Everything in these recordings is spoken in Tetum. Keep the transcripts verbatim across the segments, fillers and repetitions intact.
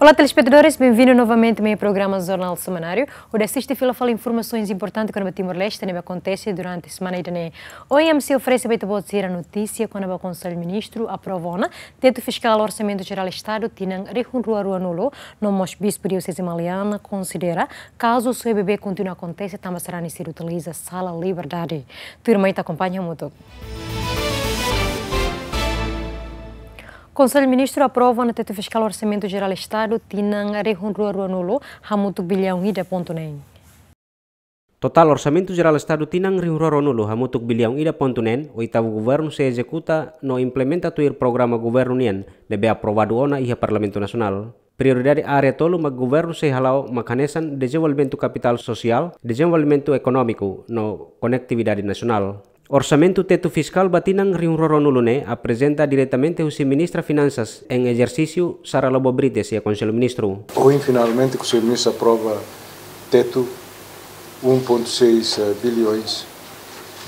Olá, telespetadores, benvindu novamente mai programa Jornál Semanáriu. Hodi asiste fila fali informasaun importante kona-ba Timor-Leste ne'ebé akontese durante semana ida-ne'e. Ohin ami sei oferese ba ita-boot sira notísia kona-ba Konsellu Ministru aprova ona tetu fiskál Orsamentu Jerál Estadu tinan rihun rua ruanulu, no mós Bispu Dioseze Maliana konsidera kazu soe bebé kontinua akontese tanba sarani sira utiliza Sala Liberdade. Tuirmai ita akompaña hamutuk. Konsellu Ministru aprova ona tetu fiskál Orsamentu Jerál Estadu tinan rihun rua ruanulu hamutuk biliaun ida pontu neen. Totál Orsamentu Jerál Estadu tinan rihun rua ruanulu hamutuk biliaun ida pontu neen, oitavu governu sei ezekuta no implementa tuir programa governu nian ne'ebé aprovadu ona iha Parlamentu Nasionál. Prioridade área tolu mak governu sei hala'o mak hanesan dezenvolvimentu kapitál sosiál, dezenvolvimentu ekonómiku no konektividade nasionál. Orsamentu tetu fiskál ba tinan rihun rua ruanulu ne'e aprezenta diretamente husi Ministra Finansas em ezersísiu, Sara Lobo Brites, iha Konsellu Ministru. Ohin finalmente Konsellu Ministru aprova tetu um ponto seis bilhões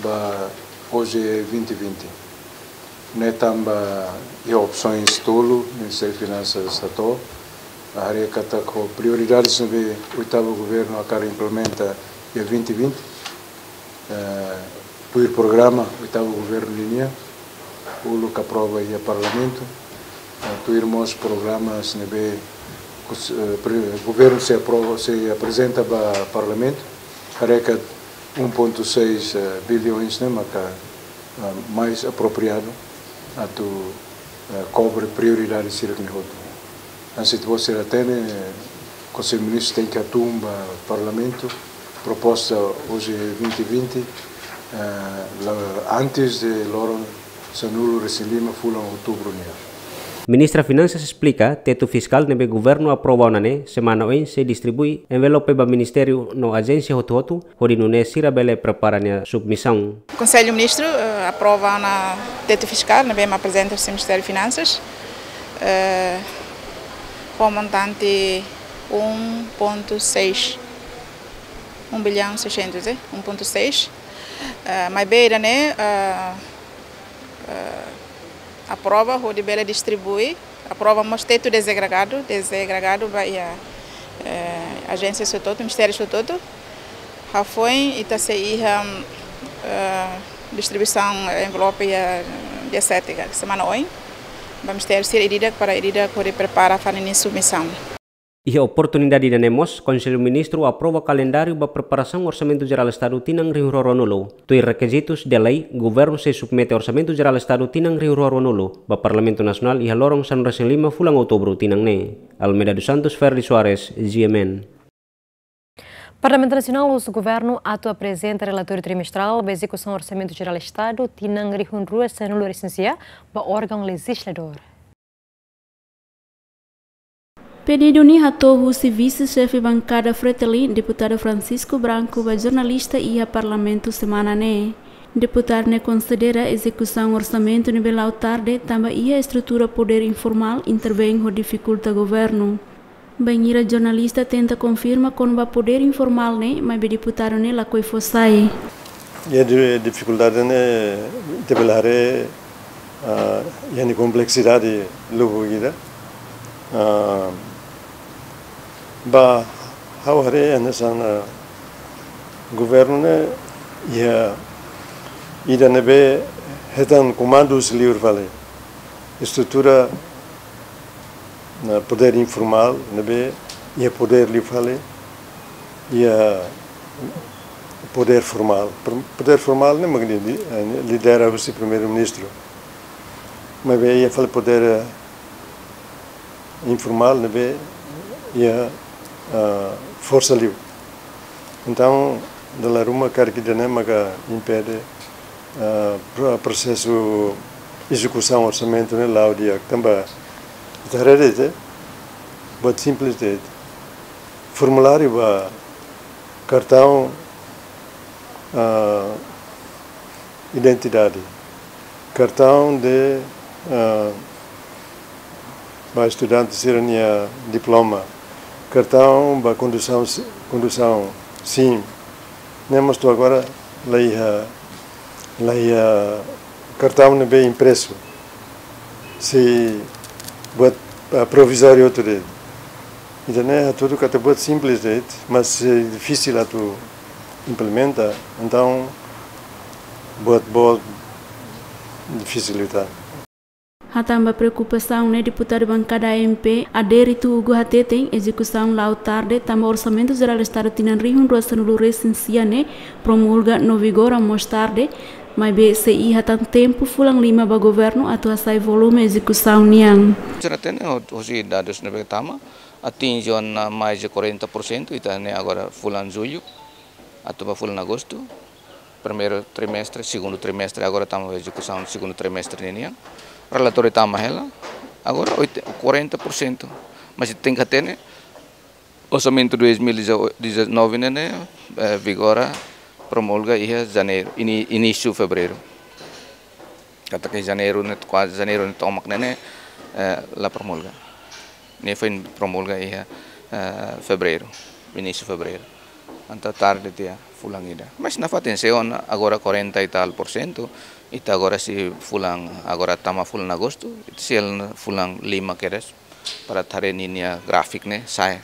ba O J E vinte vinte. Ne'e tanba iha opsoens tolu Ministériu Finansas hato'o, haree katak ho prioridades ne'ebé oitavu governu hakarak implementa iha vinte vinte, eh, tuir programa oitavu governu nian, uluk aprova iha Parlamentu, eh, tuir mós programas ne'ebé kus-, eh, pre-, governu sei aprova, sei aprezenta ba Parlamentu, haree katak um ponto seis, eh, bilhões ne'e maka, eh, mais apropriadu atu, eh, kobre prioridade sira-ne'e hotu. Hanesan ita-boot sira hatene, Konsellu Ministru tenke hatún ba Parlamentu proposta O J E vinte vinte, eh, la-, antes de loron sanulu-resin-lima fulan Outubru nian. Ministra Finansas esplika, tetu fiskál ne'ebé governu aprova ona ne'e, semana oin sei distribui envelope ba ministériu no ajénsia hotu-hotu, hodi nune'e sira bele prepara nia submisaun. Konsellu Ministru, eh, aprova ona tetu fiskál ne'ebé mak aprezenta husi Ministériu Finansas, eh, ho montante um ponto seis, um bilhão seiscentos, eh, um ponto seis. Eh, maibé ida-ne'e, eh, eh, aprova hodi bele distribui, aprova mós tetu dezagregadu, dezagregadu ba iha, eh, ajénsia hotu-hotu, ministériu hotu-hotu. Hafoin ita sei iha, eh, distribuisaun envelope iha dia sete, ka, semana oin, ba ministériu sira ida-idak para ida-idak hodi prepara fali nia submisaun. Iha oportunidade ida-ne'e mós, Konsellu Ministru aprova kalendáriu ba preparasaun Orsamentu Jerál Estadu tinan rihun rua ruanulu. Tuir rekizitus de lei, governu sei submete Orsamentu Jerál Estadu tinan rihun rua ruanulu ba Parlamentu Nasionál iha loron sanulu-resin-lima fulan Outubru tinan ne'e. Almeida dos Santos, Ferdi Soares, G M N. Parlamentu Nasionál husu governu atu aprezenta relatóriu trimestrál ba ezekusaun Orsamentu Jerál Estadu tinan rihun rua sanulu-resin-sia ba órgaun lejizladór. Pedidu ne'e hato'o husi vise-xefe bankada Fretilin, Deputadu Francisco Branco, ba jornalista iha Parlamentu semana ne'e. Deputadu ne'e konsidera ezekusaun orsamentu ne'ebé la'o tarde tanba iha estrutura podér informál intervein hodi difikulta governu. Bainhira jornalista tenta konfirma kona-ba podér informál ne'e, maibé deputadu ne'e lakohi fó sai. Iha di-, difikuldade ne'e ita bele haree, ah, iha nia kompleksidade lubuk ida. Ah, ba ha'u haree hanesan, ah, governu ne'e iha ida ne'ebé hetan komandu husi liur fali. Estrutura, ah, podér informál ne'ebé iha podér liu fali, iha podér formál. Pr-, podér formál ne'e mak li-, li-, eh, lidera husi Primeiru-Ministru. Maibé iha fali podér, eh, informál ne'ebé iha, ah, forsa liu. Entaun, dala ruma karik ida-ne'e maka impede, ah, pro-, prosesu ezekusaun orsamentu ne'e la'o di'ak. Tanba ita haree de'it, buat simples de'it. Formuláriu ba kartaun, ah, identidade, kartaun de, ah, ba estudante sira-nia diploma, kartaun ba kondusaun si-, kondusaun, sim. Ne'e mós to'o agora la iha, la iha kartaun ne'ebé impresu. Sei buat, ah, provizóriu hotu de'it. Ida-ne'e hatudu katak buat simples de'it, mas eh, difisil atu implementa, entaun buat boot difisilita. Hatán ba preokupasaun ne'e, deputadu bankada A M P, Adérito Hugo hateten ezekusaun la'o tarde, tanba Orsamentu Jerál Estadu tinan rihun rua sanulu resin sia ne'e promulga no vigora mós tarde, maibé sei iha tan tempu fulan lima ba governu atu hasa'e volume ezekusaun nian. Sira hatene ho-, hosi dadus ne'ebé tama, atinje ona mais de quarenta por cento, ita-nia agora fulan jullu, atu ba fulan agostu, primeiru trimestre, segundu trimestre, agora tama ezekusaun segundu trimestre ninian. Relatóriu tama hela, agora oit-, quarenta por cento. Mas tenke hatene, orsamentu dois mil e dezanove ne'e, eh, vigora, promulga iha janeiru, ini-, inísiu fevereiru. Katak iha janeiru ne'e, kuaze janeiru ne'e tomak ne'e, eh, la promulga. Ne'e foin promulga iha, eh, fevereiru, inísiu fevereiru. Entaun tarde tiha fulan ida. Mas nafatin se ona agora quarenta e tal por cento, ita agora sei fulan, agora tama fulan agostu, ita sei fulan lima kedas para atu haree ninia gráfiku ne'e sa'e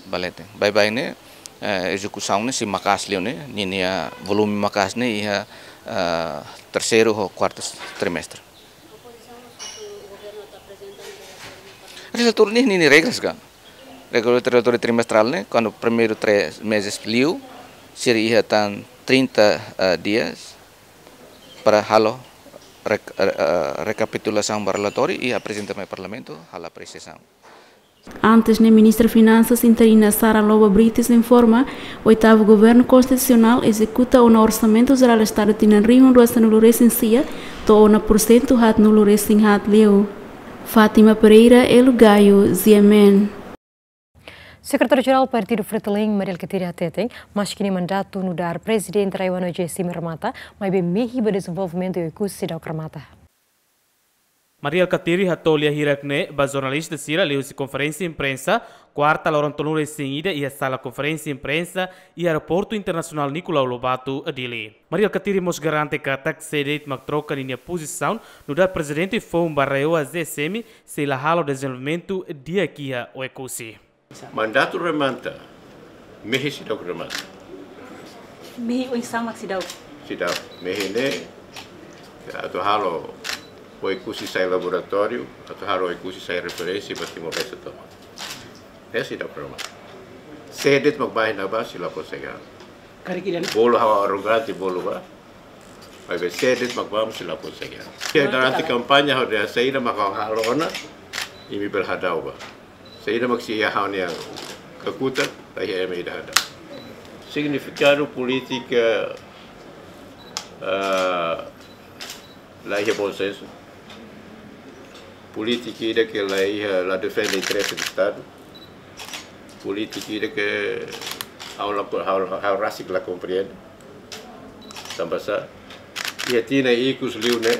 ba leten. Baibain ne'e, eh, ezekusaun ne'e sei maka'as liu ne'e, ninia volume maka'as ne'e iha, eh, terseiru ho kuartu trimestre. Relatóriu ne'e ninia regras ka. Regula-, relatóriu trimestrál ne'e, kuandu primeiru três meses liu, sira iha tan trinta, eh, dias para halo rek-, eh, eh, rekapitulasaun ba relatóriu i aprezenta mai Parlamentu, halo apresiasaun. Antes ne'e, Ministra Finansas interina Sara Lobo Brites informa, oitavu Governu Konstitusionál ezekuta ona Orsamentu Jerál Estadu tinan rihun rua sanulu resin sia, to'o ona pursentu haatnulu resin haat liu. Fátima Pereira, Elo Gayo, G M N. Sekretáriu-Jerál Partidu Fretilin, Mari Alkatiri hateten, maski nia mandatu nu'udar Prezidente RAEOA no AGECIM remata, maibé mehi ba dezenvolvimentu Oekusi seidauk remata. Mari Alkatiri hato'o lia hirak ne'e ba jornalista sira liuhusi konferénsia imprensa, kuarta loron tolunulu resin ida iha sala konferénsia imprensa iha Aeroportu Internasionál Nicolau Lobato, Dili. Mari Alkatiri mós garante katak sé de'it mak troka ninia pozisaun nu'udar Prezidente Foun ba RAEOA AGECIM sei la halo dezenvolvimentu di'ak iha Oekusi. Mandatu remata, mehi seidauk remata. Mehi oinsá mak seidauk? Seidauk, mehi ne'e, atu halo Oekusi sai laboratóriu, atu halo Oekusi sai referénsia ba Timor-Leste tomak. Ne'e seidauk remata. Sé de'it mak bá iha ne'ebá sei la konsege. Karik ida-ne'e? Bolu ha'u arrogante bolu bá. Maibé sé de'it mak bá mós sei la konsege. Durante kampaña ha'u dehan saida mak ha'u halo ona, imi bele hadau bá. Saida mak sei iha ha'u-nia kakutak, la iha ema ida hadau. Signifikadu polítika, ah, la iha bom senso. Polítika ida ke la iha, la defende interese do Estadu. Polítika ida ke ha'u la, ha'u, ha'u rasik la komprende. Tanba sá, iha tinan ikus liu ne'e,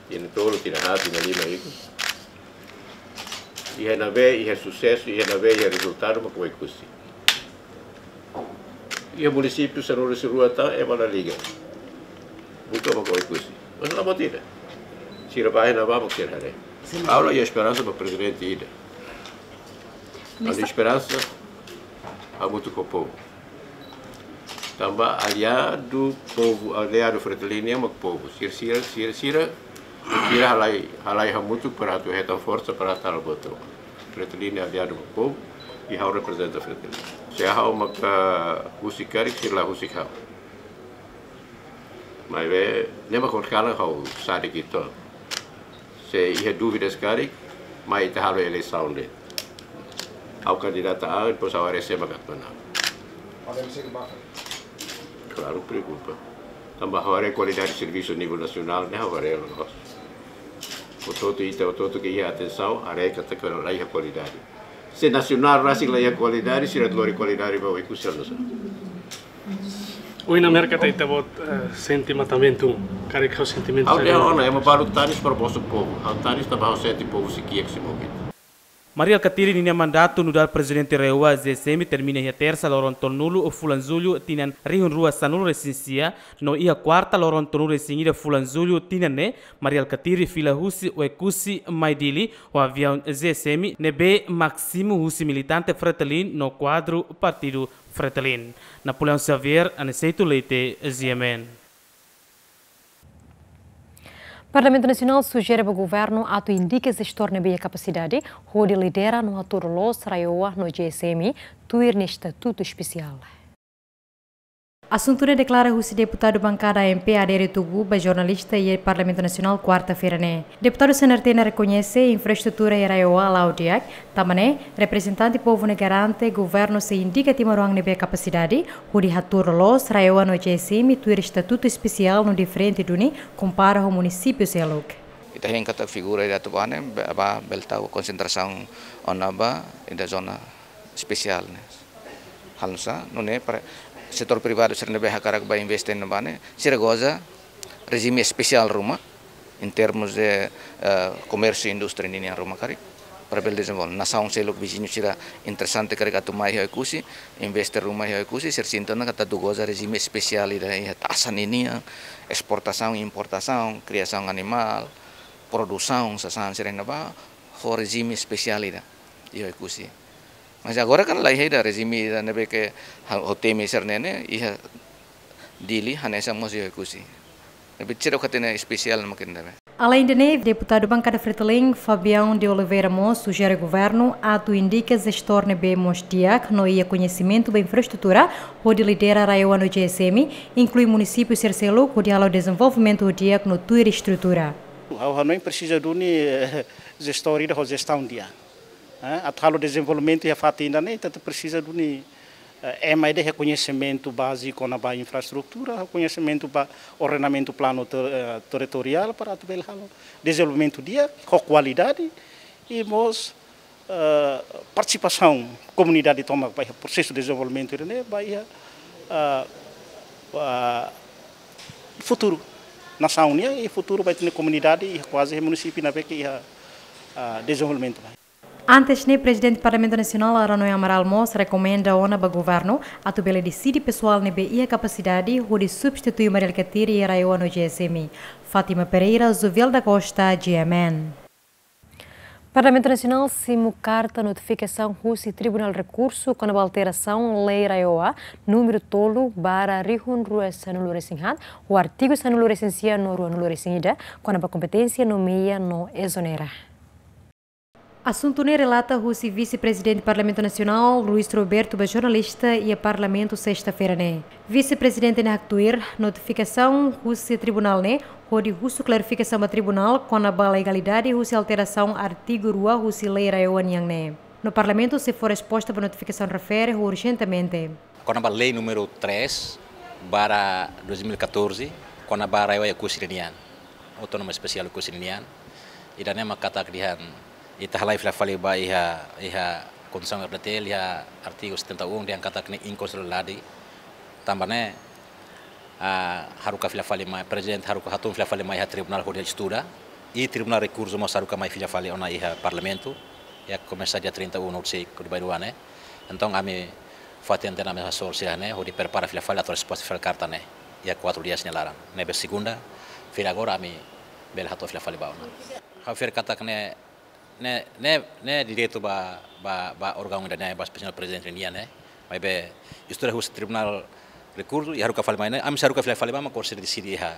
tinan tolu, tinan haat, tinan lima ikus. Iha ne'ebé iha susesu, iha ne'ebé iha rezultadu mak Oekusi. Iha munisípiu sanulu-resin-rua tan, ema la liga. Buka mak Oekusi. Mas la buat ida. Sira bá iha ne'ebá mak sira haree. Ha'u la iha esperansa ba prezidente ida. Ha'u-nia esperansa hamutuk ho povu. Tanba aliadu povu, aliadu Fretilin nian mak povu. Sira, sira, sira, sira, sira halai, halai hamutuk para atu hetan forsa para atu halo buat tomak. Fretilin ne'e aliadu mak povu, i ha'u reprezenta Fretilin. Se ha'u maka husik karik, sira la husik ha'u. Maibé, ne'e mak horikalan ha'u sadik uitoan. Se iha dúvidas karik, mai ita halo eleisaun de'it. Ha'u kandidata an, depois ha'u haree sé mak atu manán. Podem ser buffer. Klaru, preokupa. Tanba ha'u haree kualidade servisu nivel nasionál, ne'e ha'u haree loos. Hotu-hotu ita, hotu-hotu ke iha atensaun, haree katak la iha kualidade. Se nasionál rasik la iha kualidade, sira lori kualidade ba Oekusi, no sa. Ohin Amérika ta ita-boot, eh, sente matamentu, karik ha'u sentimentu. Ha'u dehan ona, ema balu tanis para bosu povu. Ha'u tanis tanba ha'u sente povu sei kiak, sei movidu. Mari Alkatiri ninia mandatu nu'udar Prezidente RAEOA ZEESM termina iha Tersa loron tolunulu fulan Jullu tinan rihun rua sanulu resin sia, no iha Kuarta loron tolunulu resin ida fulan Jullu tinan ne'e, Mari Alkatiri fila husi Oekusi mai Dili ho aviaun ZEESM ne'ebé másimu husi militante Fretilin no kuadru partidu Fretilin. Napoleão Xavier, Aniceto Leite, GMN. Parlamentu Nasionál sujere ba Governu atu indika jestór ne'ebé iha kapasidade hodi lidera no hatudu loos RAEOA no ZEESM tuir nia estatutu espesiál. Asuntu ne'e deklara husi deputadu bankada AMP Adere Tugu ba jornalista iha Parlamentu Nasionál Kuarta-feira ne'e. Deputadu C N R T ne'e rekoñese infraestrutura iha RAEOA la'o di'ak, tanba ne'e reprezentante povu ne'e garante Governu sei indika timoroan ne'ebé kapasidade hodi hatudu loos RAEOA no ZEESM tuir estatutu espesiál no diferente duni kompara ho munisípiu seluk. Ita hein katak figura ida atu bá ne'e, be-, ba bele tau konsentrasaun ona ba ida zona espesiál ne'e. Halo nu'usá, nune'e para setór privadu sira ne'ebé hakarak bá investe iha ne'ebá ne'e, sira goza rejime espesiál ruma, em termos de, eh, komérsiu, indústria ninian ruma karik, para bele dezenvolve. Nasaun seluk viziñu sira interesante karik atu mai iha Oekusi, investe ruma iha Oekusi, sira sente ona katak atu goza rejime espesiál ida iha taxa ninian, esportasaun, importasaun, kriasaun animál, produsaun, sasán sira iha ne'ebá, ho rejime espesiál ida iha Oekusi. Mas agora kan laiha ida rejime ida ne'ebé ke ha-, ho temi sira-ne'e ne'e iha Dili hanesan mós iha Oekusi. Ne'ebé sira katak espesiál mak ne'ebé. Alende ne'e, deputadu bankada Fretilin, Fabião de Oliveira mós sujere Governu atu indika jestór ne'ebé mós di'ak no iha koñesimentu ba infraestrutura hodi lidera RAEOA no ZEESM, inklui munisípiu sira seluk hodi halo dezenvolvimentu di'ak no tuir estrutura. Ha'u hanoin presiza duni, eh, jestór ida ho jestaun di'ak. Eh, atu halo dezenvolvimentu iha fatin ida-ne'e, ita presiza duni, eh, ema ida iha koñesimentu baze kona-ba infraestrutura, koñesimentu ba ordenamentu planu ter-, eh, territoriál para atu bele halo dezenvolvimentu di'ak ho kualidade i mós, eh, partisipasaun komunidade tomak ba iha prosesu dezenvolvimentu ida-ne'e, ba iha, eh, ba futuru nasaun nian i futuru ba ita-nia komunidade iha kuaze iha munisípiu ne'ebé ke iha, eh, dezenvolvimentu. Antes ne'e, Prezidente Parlamentu Nasionál Ranoé Amaral mós rekomenda ona ba Governu atu bele deside pesoál ne'ebé iha kapasidade hodi substitui Mari Alkatiri iha RAEOA no ZEESM. Fátima Pereira, Jovial da Costa, GMN. Parlamentu Nasionál simu karta notifikasaun husi Tribunál Rekursu kona-ba alterasaun Lei RAEOA númeru tolu barra rihun rua sanulu resin haat, ho artigu sanulu resin sia no ruanulu resin ida, kona-ba kompeténsia nomeia no ezonera. Asuntu ne'e relata husi Vise-Prezidente Parlamentu Nasionál, Luís Roberto, ba jornalista iha Parlamentu, sesta-feira ne'e. Vise-Prezidente ne'e haktuir notifikasaun husi Tribunál ne'e hodi husu klarifikasaun ba Tribunál kona-ba legalidade husi alterasaun artigu rua husi Lei RAEOA nian ne'e. No Parlamentu sei fó resposta ba notifikasaun refere ho urjentemente. Kona-ba lei númeru três barra dois mil e catorze, kona-ba RAEOA Oekusi ninian, Autónoma Espesiál Oekusi ninian. Ida-ne'e mak katak dehan, ita halai fila fali ba iha, iha Konstituisaun RDTL, iha artigu setenta e um, dehan katak ne'e inkonstitusionalidade. Tanba ne'e, ah, haruka fila fali mai, Prezidente haruka hatun fila fali mai iha Tribunál hodi estuda. I Tribunál Rekursu mós haruka mai fila fali ona iha Parlamentu. Iha komesa dia trinta e um, no sei kodi bai dua ne'e. Entaun, ami fatin tenke ami hasoru sira ne'e, hodi prepara fila fali atu resposta fali karta ne'e iha kuatru dias nia laran. Ne'ebé segunda-feira agora ami bele hato'o fila fali ba ona. Ha'u fiar katak ne'e, ne'e, ne'e, ne'e direitu ba, ba, ba órgaun ida-ne'e, ba Señór Prezidente nian ne'e. Maibé, estuda husi Tribunál Rekursu, i haruka fali mai ne'e, ami sei haruka fila fali ba, mak agora sei deside iha,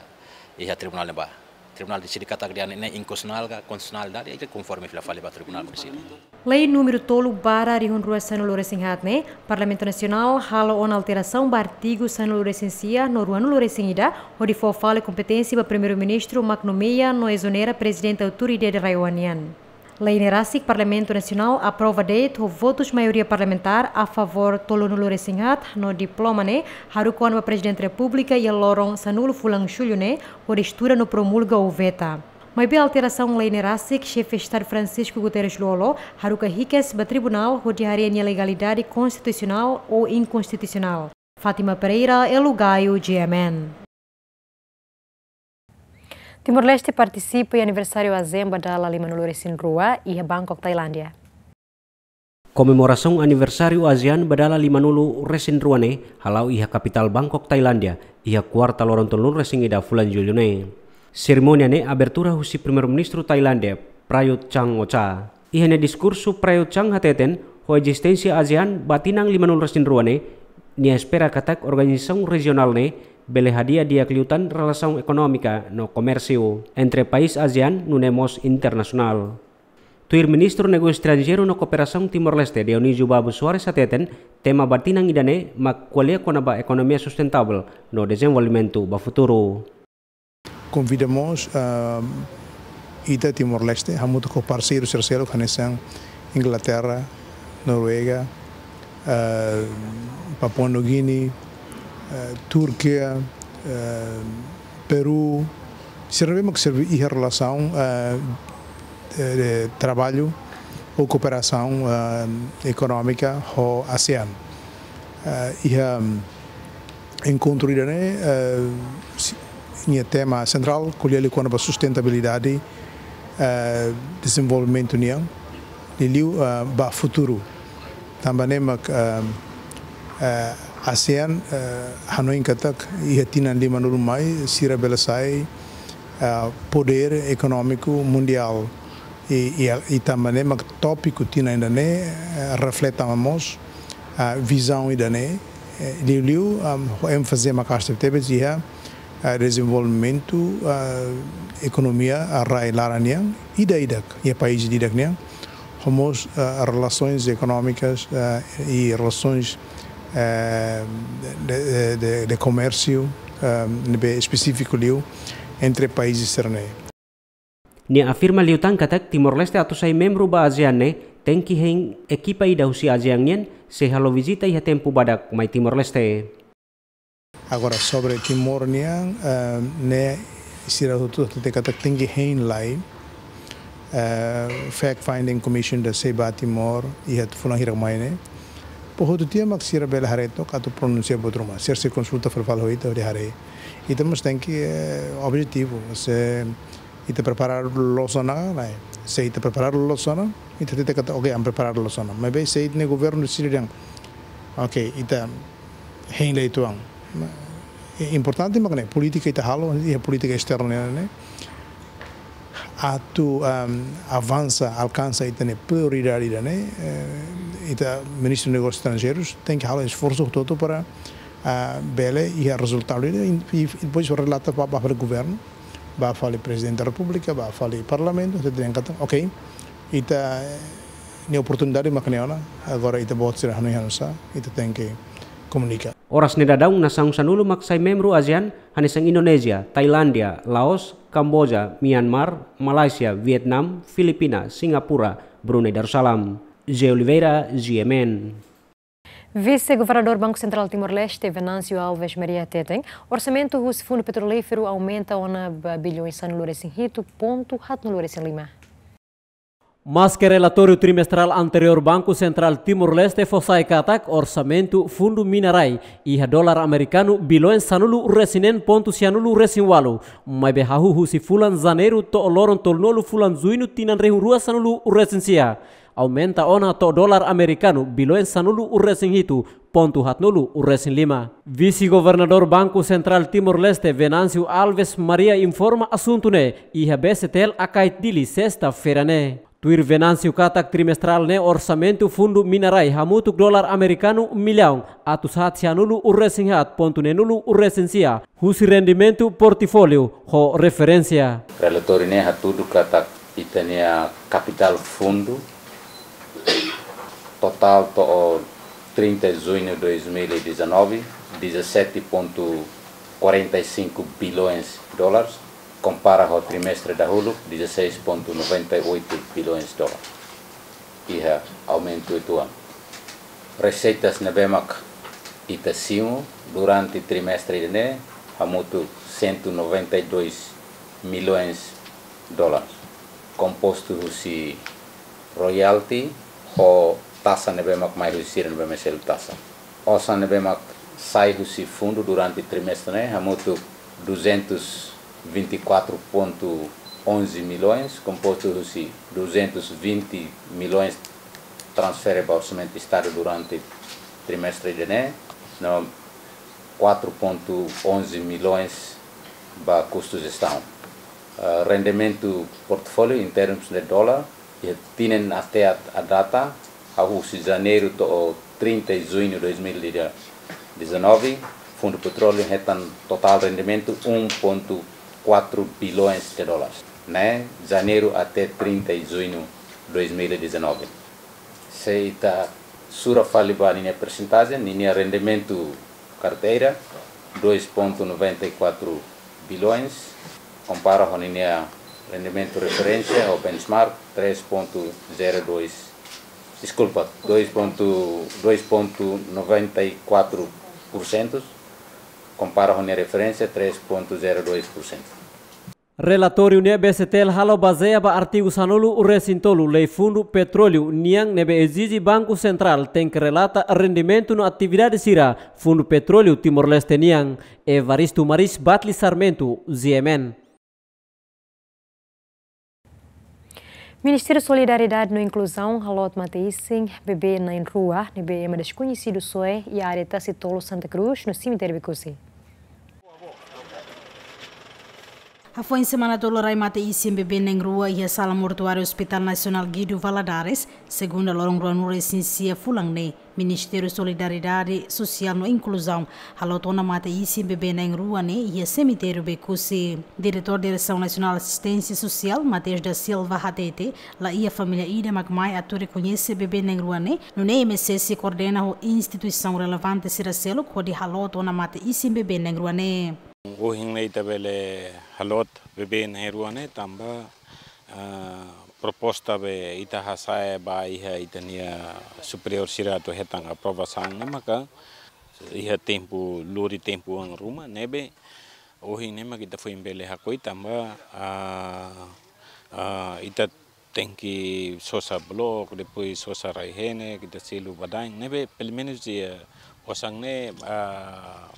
iha Tribunál ne'ebá. Tribunál deside katak dehan ne'e inkonstitusionál ka konstitusionalidade, ita konforme fila fali ba Tribunál Munisípiu. Lei númeru tolu barra rihun rua sanulu resin haat ne'e, Parlamentu Nasionál halo ona alterasaun ba artigu sanulu resin sia no ruanulu resin ida, hodi fó fali kompeténsia ba Primeiru-Ministru mak nomeia no ezonera Prezidente Autoridade RAEOA nian. Lei ne'e rasik Parlamentu Nasionál aprova de'it ho votus maioria parlamentár a favór tolunulu resin haat no diploma ne'e haruka ona ba Prezidente Repúblika iha loron sanulu fulan Jullu ne'e, hodi estuda no promulga ou veta. Maibé alterasaun lei ne'e rasik Xefe Estadu Francisco Guterres Lú-Olo haruka hikas ba Tribunál hodi haree nia legalidade konstitusionál ou inkonstitusionál. Fátima Pereira, Elo Gaio, GMN. Timor-Leste partisipa iha aniversáriu ASEAN ba dala limanulu resin rua iha Bangkok, Tailándia. Komemorasaun aniversáriu ASEAN ba dala lima-nulu resin rua ne'e hala'o iha kapitál Bangkok, Tailándia, iha kuarta loron tolunulu resin ida fulan Jullu ne'e. Serimónia ne'e abertura husi Primeiru-Ministru Tailándia, Prayut Chan-o-cha. Iha nia diskursu, Prayut Chan hateten, ho ezisténsia ASEAN ba tinan lima-nulu resin rua ne'e, nia espera katak organizasaun rejionál ne'e bele hadi'a di'ak liután relasaun ekonómika no komérsiu entre país ASEAN nune'e mós internasionál. Tuir Ministru Negósiu Estranjeiru no Kooperasaun Timor-Leste, Dionísio Babo Soares hateten, tema ba tinan ida-ne'e mak ko'alia kona-ba ekonomia sustentável no dezenvolvimentu ba futuru. Konvida mós, ah, ita Timor-Leste, hamutuk ho parseiru sira seluk hanesan Inglaterra, Noruega, ah, Papua New Guinea, ah, Turkia, ah, Peru, sira ne'ebé mak serve iha relasaun, ah, de, de traballu ou kooperasaun, ah, ekonómika ho ASEAN. Ah, iha enkontru ida-ne'e, ah, si-, nia tema sentrál ko'alia liu kona-ba sustentabilidade, ah, dezenvolvimentu nian, liuliu, ah, ba futuru. Tanba ne'e mak, ah, ah, ASEAN, ah, hanoin katak iha tinan lima-nulu mai sira bele sai, ah, podér ekonómiku mundiál. I, i, i tanba ne'e mak tópiku tinan ida-ne'e, eh, reflete mós, ah, vizaun ida-ne'e, eh, liuliu, ah, ho énfaze maka'as tebetebes iha, ah, dezenvolvimentu, ah, ekonomia, ah, rai laran nian, ida-idak, iha país ida-idak nian, ho mós, ah, relasoens ekonómikas, ah, i relasoens, eh, de, de, de, de komérsiu, ah, ne'ebé espesífiku liu entre países sira-ne'e. Nia afirma liután katak Timor-Leste atu sai membru ba ASEAN ne'e tenke hein ekipa ida husi ASEAN nian sei halo vizita iha tempu badak mai Timor-Leste. Agora, sobre Timor nian, eh, ne'e sira hotu hatete katak tenke hein lai, eh, fact finding commission ida sei ba Timor iha fulan hirak mai ne'e. Para hotu tiha mak sira bele haree took atu pronunsia buat ruma. Sira sei konsulta fali fali ho ita hodi haree. Ita mós tenke, eh, objetivu, se ita preparadu loos ona ka lae. Se ita preparadu loos ona, ita hatete katak, "Oke, ami preparadu loos ona." Maibé se ita-nia governu deside dehan, "Oke, ita hein lai uitoan." I importante mak ne'e, polítika ita halo, iha polítika esterna ne'e, ne'e. Atu, ehm, avansa, alkansa ita-nia prioridade ida-ne'e, eh, ita Ministru Negósius Estranjeirus tenke halo esforsu hotu-hotu para, ah, bele iha rezultadu ida, i, i depois relata ba, ba fali governu, ba fali Prezidente da Repúblika, ba fali Parlamentu, ita dehan katak, "Oke, ita, eh, nia oportunidade mak ne'e ona, agora ita-boot sira hanoin hanusá, ita tenke komunika." Oras ne'e daudaun nasaun sanulu mak sai membru ASEAN, hanesan Indonézia, Tailándia, Laos, Kamboja, Myanmar, Malaysia, Vietnam, Filipina, Singapura, Brunei Darussalam. José Oliveira, G M N. Vise-Governadór Banku Sentrál Timor-Leste, Venâncio Alves Maria hateten, orsamentu husi Fundu Petrolíferu aumenta ona ba bilhões sanulu resin hitu pontu haatnulu resin lima. Maske relatóriu trimestrál anteriór Banku Sentrál Timor-Leste fó sai katak orsamentu Fundu Mina Rai iha dolar amerikanu bilhões sanulu resin neen pontu sianulu resin ualu, maibé hahú husi fulan Janeiru to'o loron tolunulu fulan Juñu tinan rihun rua sanulu resin sia, aumenta ona to'o dolar amerikanu bilhões sanulu resin hitu pontu haatnulu resin lima. Vise-Governadór Banku Sentrál Timor-Leste, Venâncio Alves Maria, informa asuntu ne'e iha B C T L Akait Dili, sesta-feira ne'e. Tuir Venâncio katak trimestrál ne'e orsamentu Fundu Mina Rai hamutuk dolar amerikanu millaun atus haat sianulu resin haat pontu neenulu resin sia, husi rendimentu portfóliu ho referénsia. Relatóriu ne'e hatudu katak ita-nia kapitál fundu totál to'o trinta de junho de dois mil e dezanove, dezassete ponto quarenta e cinco bilhões de dólares, kompara ho trimestre dahuluk, dezasseis ponto noventa e oito bilhões de dólares. Iha aumentu uitoan. Reseitas ne'ebé mak ita simu durante trimestre ne'e hamutuk cento e noventa e dois milhões de dólares, kompostu husi royalty ho taxa ne'ebé mak mai husi sira ne'ebé mak selu taxa. Osan ne'ebé mak sai husi fundu durante trimestre ne'e hamutuk duzentos vinte e quatro ponto onze milhões, kompostu husi duzentos vinte milhões Transfere ba orsamentu Estadu durante trimestre ida-ne'e, no quatro ponto onze milhões ba kustu jestaun. Ah, rendimentu portfóliu em termos de dólar, iha tinan até a, a data, hahú husi Janeiru to'o trinta de Junho de dois mil e dezenove, Fundu Petróleu hetan totál rendimentu um ponto quatro bilhões de dólares, ne'e Janeiru até trinta de Junho de dois mil e dezenove. Se ita sura fali ba ninia persentajen, ninia rendimentu karteira, dois ponto noventa e quatro bilhões, kompara ho ninia rendimentu referénsia ou benchmark, três ponto zero dois, deskulpa, dois ponto, dois ponto noventa e quatro por cento, kompara ho ninia referénsia, três ponto zero dois por cento. Relatóriu ne'e B C T L halo bazeia ba artigu sanulu-resin-tolu Lei Fundu Petróleu nian, ne'ebé ezije Banku Sentrál tenke relata rendimentu no atividade sira Fundu Petróleu Timor-Leste nian. Evaristo Maris, Batli Sarmento, G M N. Ministériu Solidariedade no Inkluzaun haloot mate-isin bebé na'in-rua ne'ebé ema deskoñesidu soe iha área Tasi Tolu, Santa Cruz, no semitériu Becusse. Hafoin semana tolu rai mate-isin bebé na'in-rua iha sala mortuáriu Hospital Nasionál Guido Valadares, segunda loron ruanulu-resin-sia fulan ne'e. Ministériu Solidariedade Sosiál no Inkluzaun haloot ona mate-isin bebé na'in-rua ne'e iha semitériu Becusse. Diretór Diresaun Nasionál Asisténsia Sosiál, Mateus da Silva, hatete, laiha família ida mak mai atu rekoñese bebé na'in-rua ne'e, nune'e M S S koordena ho instituisaun relevante sira seluk hodi haloot ona mate-isin bebé na'in-rua ne'e. Ohin ne'e ita bele haloot bebé na'in-rua ne'e tanba, ah, proposta be ita hasa'e ba iha ita-nia superiór sira atu hetan aprovasaun ne'e maka iha tempu, lori tempu oan ruma, ne'ebé ohin ne'e mak ita foin bele hakoi tanba, ah, ah, ita tenke sosa blok, depois sosa rai-henek, ita selu badain, ne'ebé pelumenus iha osan ne'e, ah,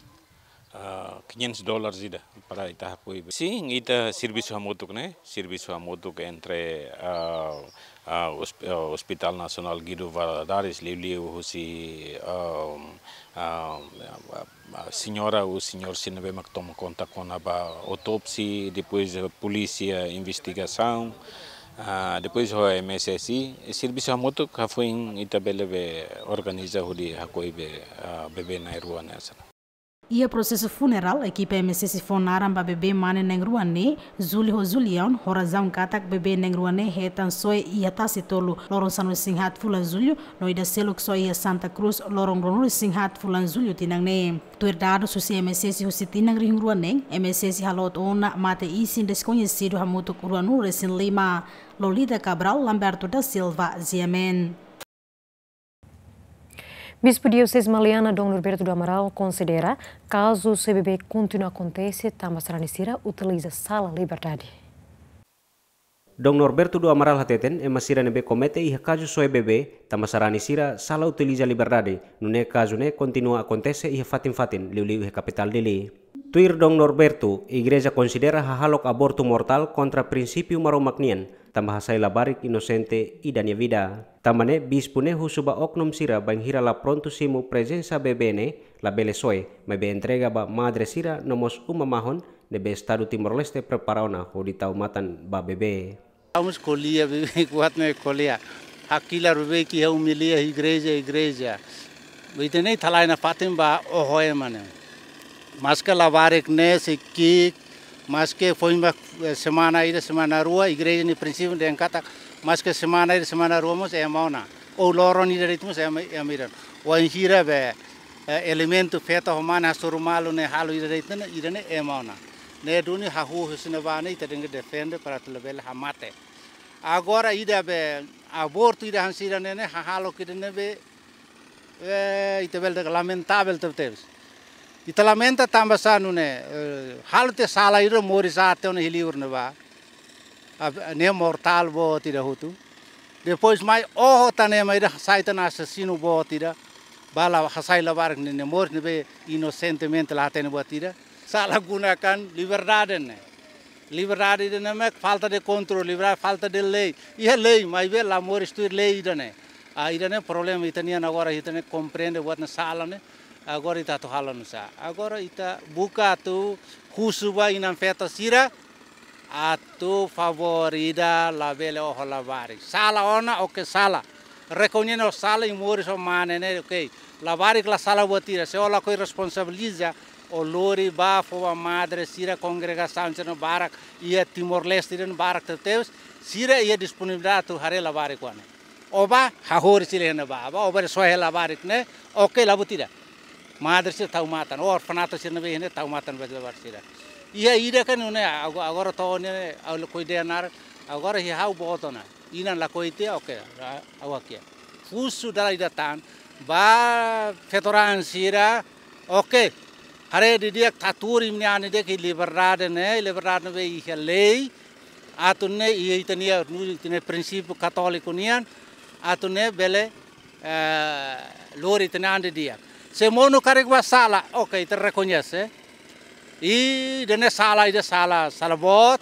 ah, quinhentos dólares ida para ita hakoi. Sin, ita servisu hamutuk ne'e, servisu hamutuk entre, ah, ah, hosp-, ah, Hospital Nasionál Guido Valadares, liuliu husi, ah, ah, ah, señora, ou señór sira ne'ebé mak toma konta kona-ba autópsia, depois, ah, polísia investigasaun, ah, depois ho M S S, i servisu hamutuk hafoin ita bele be organiza hodi hakoi be, ah, bebé na'in-rua ne'e hanesan. Iha prosesu funerál, ekipa M S S fó naran ba bebé mane na'in-rua ne'e, Júlio ho Julião, ho razaun katak bebé na'in-rua ne'e hetan soe iha Tasi Tolu, loron sanulu-resin-haat fulan Jullu, no ida seluk soe iha Santa Cruz, loron ruanulu-resin-haat fulan Jullu tinan ne'e. Tuir dadus husi M S S husi tinan rihun rua neen, M S S haloot ona mate-isin deskoñesidu hamutuk ruanulu-resin-lima. Lolita Cabral, Lamberto da Silva, G M N. Bispu Dioseze Maliana, Dom Norberto do Amaral, konsidera kazu soe bebé kontinua akontese tanba sarani sira utiliza sala liberdade. Dom Norberto do Amaral hateten, ema sira ne'ebé komete iha kazu soe bebé tanba sarani sira sala utiliza liberdade, nune'e kazu ne'e kontinua akontese iha fatin-fatin, liuliu iha kapitál Dili. Tuir Dom Norberto, igreja konsidera hahalok abortu mortál kontra prinsípiu Maromak nian, tanba hasai labarik inosente ida nia vida. Tanba ne'e, bispu ne'e husu ba oknum sira bainhira la prontu simu prezensa bebé ne'e, labele soe, maibé entrega ba madre sira no mós uma mahon ne'ebé Estadu Timor-Leste prepara ona hodi tau matan ba bebé. Vamos ko'alia bebé, kuat ne'e ko'alia. Hakilar bebé ke iha umilia igreja, igreja. Ita-nia ita-nia fatin ba oho ema ne'e. Maske labarik ne'e sei ki'ik, maske foin ba, eh, semana ida, semana rua, igreja nia prinsípiu dehan katak, maske semana ida, semana rua mós ema ona. Ou loron ida de'it mós ema, ema ida. Wainhira be, eh, elementu feto ho mane hasoru malu ne'e halo ida de'it ne'e, ida ne'e ema ona. Ne'e duni hahú husi ne'ebá ne'e ita tenke defende para atu labele hamate. Agora ida be abortu ida hanesan ida ne'e ne'e hahalok ida ne'ebé, eh, ita bele dehan lamentavel tebetebes. Ita lamenta tanba sá nune'e, eh, halo tiha sala ida moris aat ona iha liur ne'ebá. Ab-, ne'e mortál boot ida hotu. Depois mai oho tan ema ida hasai tan asesinu boot ida. Ba la hasai labarik ne'e, ne'e moris ne'ebé inosentemente la hatene buat ida. Sala gunakan liberdade ne'e. Liberdade ida ne'e mak falta de kontrolu, liberdade falta de lei. Iha lei, maibé la moris tuir lei ida ne'e. Ah, ida-ne'e problema ita-nian agora, ita-nia komprende buat ne'e sala ne'e. Agora ita atu halo nusá? Agora ita buka atu husu ba inan-feton sira atu favór ida labele oho labarik. Sala ona, oke, sala. Rekoñese sala, i moris ho mane ne'e, oke. Labarik la sala buat ida, se ó lakohi responsabiliza, ó lori ba fó ba madre sira, kongregasaun sira barak iha Timor-Leste ida barak tebetebes, sira iha disponibilidade atu haree labarik oan ne'e. Ó bá, hahú sira iha ne'ebá, bá, ó bá soe labarik ne'e, oke, la buat ida. Madre sira tau matan, orfanato sira ne'ebé iha ne'e tau matan ba labarik sira. Iha ida kan ne'e, ago-, agora to'o ne'e, ha'u lakohi dehan naran, agora iha ha'u boot ona. Inan lakohi tiha, oke, ra-, ha'u hakiak. Husu dala ida tan, ba feto-raan sira, oke. Haree didi'ak, tau tuur imi-nia an didi'ak iha liberdade ne'e, liberdade ne'ebé iha lei, atu nune'e iha ita-nia, nu-, ita-nia prinsípiu katóliku nian, atu nune'e bele, eh, lori ita-nia an didi'ak. Se monu karik bá sala, oke, ita rekoñese. I ida-ne'e sala, ida sala, sala boot.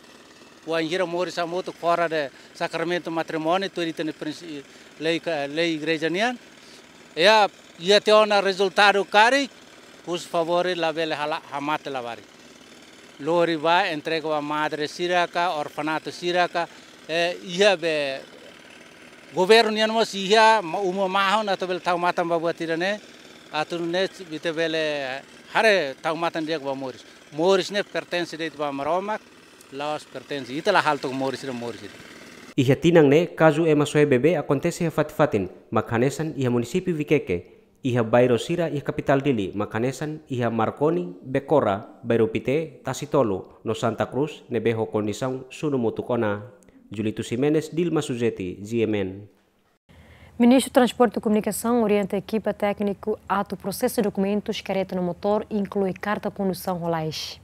Wainhira moris hamutuk fora de sakramentu matrimóniu, tuir ita-nia prinsi-, lei ka-, lei igreja nian. Iha, iha tiha ona rezultadu karik, husu favór labele hala, hamate labarik. Lori bá, entrega ba madre sira ka, orfanato sira ka, eh, iha be governu nian mós iha, ma-, uma mahon atu bele tau matan ba buat ida-ne'e, atu nune'e ita bele haree tau matan di'ak ba moris. Moris ne'e pertense de'it ba Maromak, la'ós pertense. Ita la halo took moris ida, moris ida. Iha tinan ne'e, kazu ema soe bebé akontese iha fatin-fatin, mak hanesan iha munisípiu Viqueque, iha bairru sira iha kapitál Dili, mak hanesan iha Marconi, Becora, Bairru Pité, Tasitolu, no Santa Cruz, ne'ebé ho kondisaun sunu mutuk ona. Julito Ximenes, Dilma Suzeti, G M N. Ministru Transporte e Komunikasaun orienta ekipa tékniku atu prosesa dokumentus kareta no motór, inklui karta kondusaun ho lais.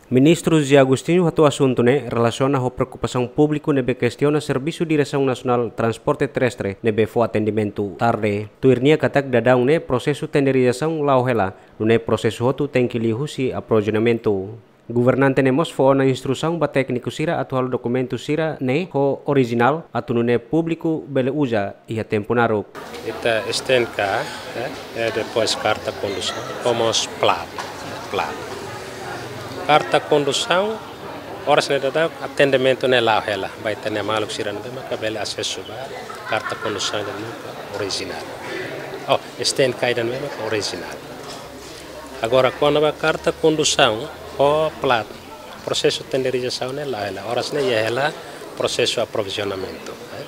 Ministru José Agostinho hato'o asuntu ne'e relasiona ho preokupasaun públiku ne'ebé kestiona Servisu Diresaun Nasionál Transporte Terrestre ne'ebé fó atendimentu tarde. Tuir nia katak daudaun ne'e prosesu tenderizasaun la'o hela, nune'e prosesu hotu tenke liu husi aprovizionamentu. Governante ne'e mós fó ona instrusaun ba tékniku sira atu halo dokumentu sira-ne'e ho orijinál atu nune'e públiku bele uza iha tempu naruk. Ita S T N K, eh, eh, depois karta kondusaun, ho mós plat, plat. Karta kondusaun, oras ne'e daudaun atendimentu ne'e la'o hela, ba ita-nia maluk sira ne'ebé maka bele asesu ba karta kondusaun ida-ne'e maka orijinál. Oh, S T N K ida-ne'e maka orijinál. Agora, kona-ba karta kondusaun ho plat, prosesu tenderizasaun ne'e la'o hela. Oras ne'e iha hela prosesu aprovizionamentu, eh.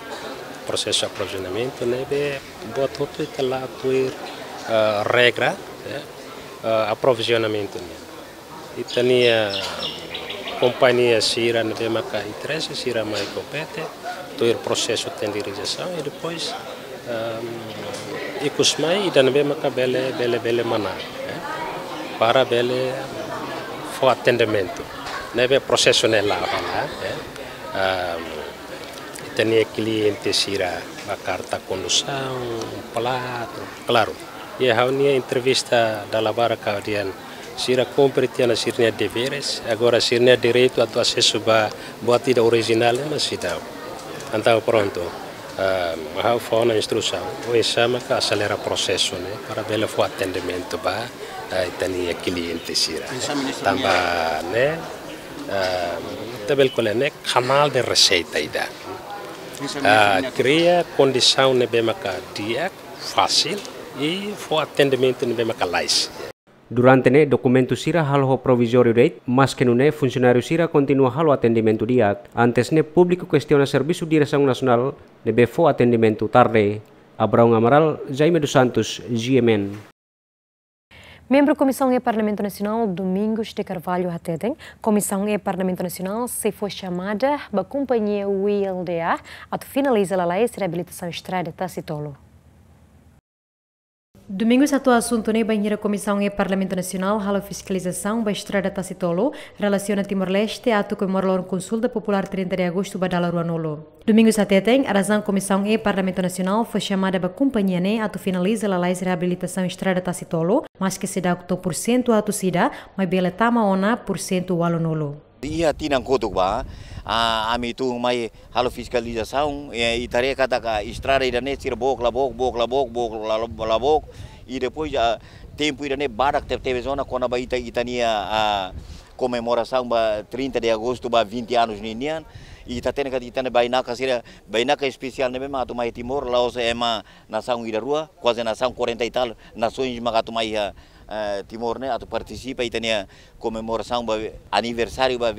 Prosesu aprovizionamentu ne'ebé buat hotu ita la'o tuir, eh, regra, eh, eh, aprovizionamentu nian. Ita-nia kompañia sira ne'ebé maka interese sira mai kompete, tuir prosesu tenderizasaun i depois, ehm, ikus mai ida ne'ebé maka bele, bele, bele manán, eh, para bele fó atendimentu. Ne'ebé prosesu ne'e la'o hela, eh. Ehm, ita-nia kliente sira ba karta kondusaun, plat, klaru. Iha ha'u-nia entrevista dala barak ha'u dehan sira kumpre tiha ona sira-nia deveres, agora sira-nia direitu atu asesu ba buat ida orijinál ne'e mak seidauk. Entaun prontu, ah, ha'u fó ona instrusaun, oinsá maka aselera prosesu ne'e, para bele fó atendimentu ba, ah, ita-nia kliente sira. Oinsá, Ministru, tanba ne'e, ah, ita bele ko'alia ne'e kanál de reseita ida. Oinsá, ah, Ministru, kria kondisaun ne'ebé maka di'ak, fasil, i fó atendimentu ne'ebé maka lalais. Durante ne'e dokumentu sira halo ho provizóriu de'it, maske nune'e funsionáriu sira kontinua halo atendimentu di'ak. Antes ne'e públiku kestiona Servisu Diresaun Nasionál ne'ebé fó atendimentu tarde. Abraão Amaral, Jaime dos Santos, G M N. Membru Komisaun E Parlamentu Nasionál, Domingos de Carvalho, hateten, Komisaun E Parlamentu Nasionál sei fó xamada ba kompañia W I L D A atu finaliza lalais reabilitasaun estrada Tasitolu. Domingos hato'o asuntu ne'e bainhira Komisaun E Parlamentu Nasionál halo fiskalizasaun ba estrada Tasitolu, relasiona Timor-Leste atu komemora loron konsulta populár trinta de agostu ba dala ruanulu. Domingos hateten, razaun Komisaun E Parlamentu Nasionál fó xamada ba kompañia ne'e atu finaliza lalais reabilitasaun estrada Tasitolu, maske seidauk to'o pursentu atus ida, maibé bele tama ona pursentu ualunulu. Iha tinan kotuk ba, ah, ami tun mai halo fiskalizasaun, eh, ita haree katak estrada ida-ne'e sira book la book, book la book, book la, la book. I depois, ah, tempu ida-ne'e badak tebetebes ona kona-ba ita, ita-nia, ah, komemorasaun ba trinta de agosto ba vinte anos ninian. Ita hatene katak ita-nia bainaka sira, bainaka espesiál ne'ebé mak atu mai Timor, la'ós ema nasaun ida rua, kuaze nasaun quarenta e tal nasoens mak atu mai iha, eh, Timor ne'e atu partisipa ita-nia komemorasaun ba aniversáriu ba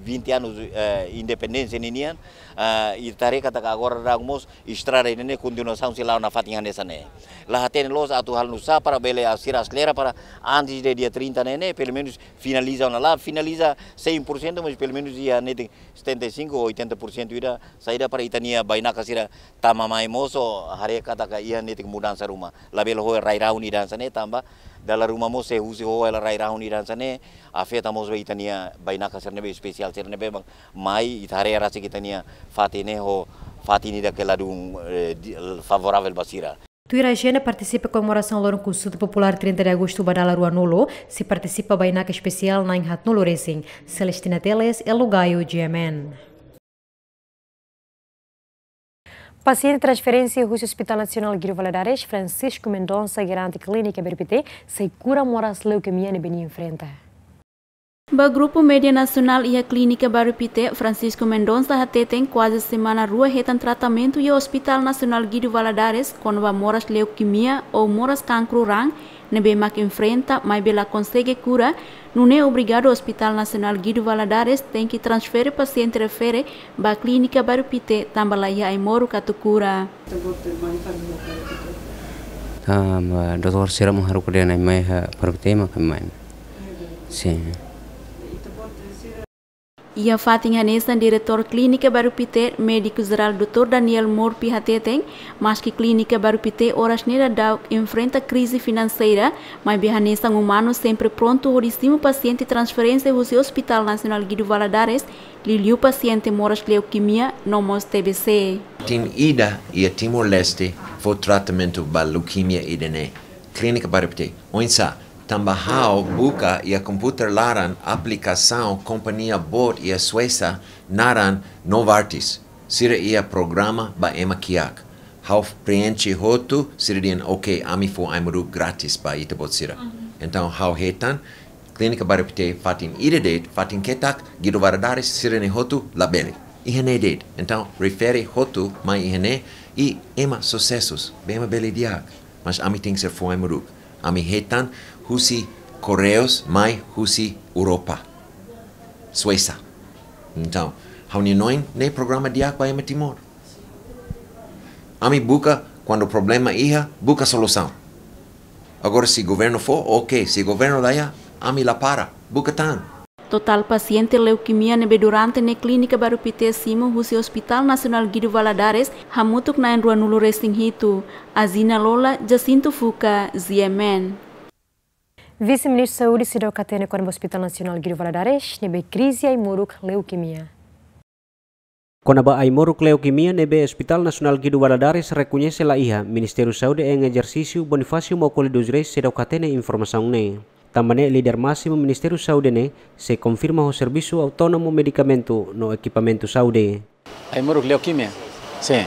vinte anos, eh, independénsia ninian. Eh, ita haree katak agora daudaun mós estrada ida-ne'e kontinuasaun sei la'o nafatin hanesan ne'e. La hatene loos atu halo nu'usá para bele sira aselera para antes de dia trinta ne'e, ne'e, pelumenus finaliza ona, la finaliza cem por cento, mas pelumenus iha netik setenta e cinco ou oitenta por cento ida, saida para ita-nia bainaka sira tama mai mosu, haree katak iha netik mudansa ruma. Labele ho rai-rahun ida hanesan ne'e tanba dala ruma mós se husi ho rai-rahun ida hanesan ne'e, afeta mós ba ita-nia bainaka sira ne'ebé espesiál sira ne'ebé mak mai, ita haree rasik ita-nia fatin ne'e ho fatin ida ke ladún, eh, di-, favorável ba sira. Tuir ajenda, partisipa komemorasaun loron konsulta populár trinta de agosto ba dala ruanulu, sei partisipa bainaka espesiál na'in haatnulu resin. Celestina Teles, Elo Gaio, G M N. Pasiente transferénsia husi Hospital Nasionál Guido Valadares, Francisco Mendonça, garante Klínika Bairru Pité sei kura moras leukemia ne'ebé nia enfrenta. Ba grupu média nasionál iha Klínika Bairru Pité, Francisco Mendonça hateten kuaze semana rua hetan tratamentu iha Hospital Nasionál Guido Valadares kona-ba moras leukemia ou moras kankru raan ne'ebé mak enfrenta maibé la konsege kura, nune'e obrigadu Hospital Nasionál Guido Valadares tenke transfere pasiente refere ba Klínika Bairru Pité tanba la iha ai-moruk atu kura. Tanba doutór sira mak haruka dehan mai iha Bairru Pité mak mai. Sin. Iha fatin hanesan, Diretór Klínika Bairru Pité, Médiku Jerál doutór Daniel Morpi hateten, maski Klínika Bairru Pité oras ne'e daudaun enfrenta krize finanseira, maibé hanesan umanu sempre prontu hodi simu pasiente transferénsia husi Hospital Nasionál Guido Valadares, liuliu pasiente moras leukemia no mós T B C. Fatin ida iha Timor-Leste fó tratamentu ba leukemia ida-ne'e, Klínika Bairru Pité. Oinsá? Tanba ha'u buka iha komputadór laran aplikasaun kompañia boot iha Suésia naran Novartis. Sira iha programa ba ema kiak. Ha'u preenxe hotu, sira dehan, "Oke, ami fó ai-moruk grátis ba ita-boot sira." Entaun ha'u hetan, Klínika Bairru Pité fatin ida de'it, fatin ketak, Guido Valadares, sira-ne'e hotu labele. Iha ne'e de'it. Entaun refere hotu mai iha ne'e, i ema susesu, be ema bele di'ak. Mas ami tenke ser fó ai-moruk. Ami hetan husi Correios mai husi Europa, Suésia. Entaun ha'u-nia hanoin, ne'e programa di'ak ba ema Timor. Ami buka, kuandu problema iha, buka solusaun. Agora, se governu fó, oke. Se governu la iha, ami la para, buka tan. Totál pasiente leukemia ne'ebé durante ne'e Klínika Bairru Pité simu husi Hospital Nasionál Guido Valadares hamutuk na'in ruanulu resin hitu. Azina Lola, Jacinto Fuca, G M N. Vise-Ministru Saúde seidauk hatene kona-ba Hospital Nasionál Guido Valadares ne'ebé krize ai-moruk leukemia. Kona-ba ai-moruk leukemia ne'ebé Hospital Nasionál Guido Valadares rekoñese la iha, Ministériu Saúde em exercício, Bonifácio Maukoli dos Reis, seidauk hatene informasaun ne'e. Tanba ne'e líder másimu Ministériu Saúde ne'e sei konfirma ho servisu autónomu medikamentu no ekipamentu saúde. Ai-moruk leukemia? Sin.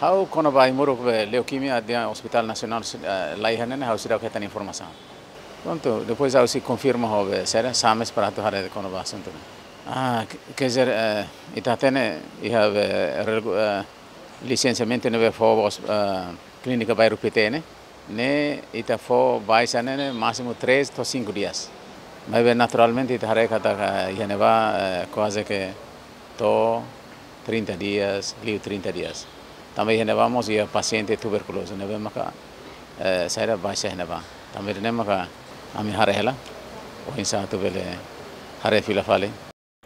Ha'u kona-ba ai-moruk be leukemia iha Hospital Nasionál, eh, la iha ne'e, ha'u seidauk hetan informasaun. Prontu, depois ha'u sei konfirma ho be sira, SAMES para atu haree kona-ba asuntu ne'e. Ah, ke-, quer dizer, eh, ita hatene iha be regu-, eh, lisensiamentu ne'ebé fó ba hos-, eh, Klínika Bairru Pité ne'e, ne'e ita fó baixa ne'e, ne'e másimu três to'o cinco dias. Maibé naturalmente ita haree katak iha ne'ebá, eh, kuaze ke to'o trinta dias, liu trinta dias. Tanba iha ne'ebá mós iha pasiente tuberkulozu ne'ebé maka, eh, saida baixa iha ne'ebá. Tanba ida-ne'e maka ami haree hela, oinsá atu bele haree fila fali.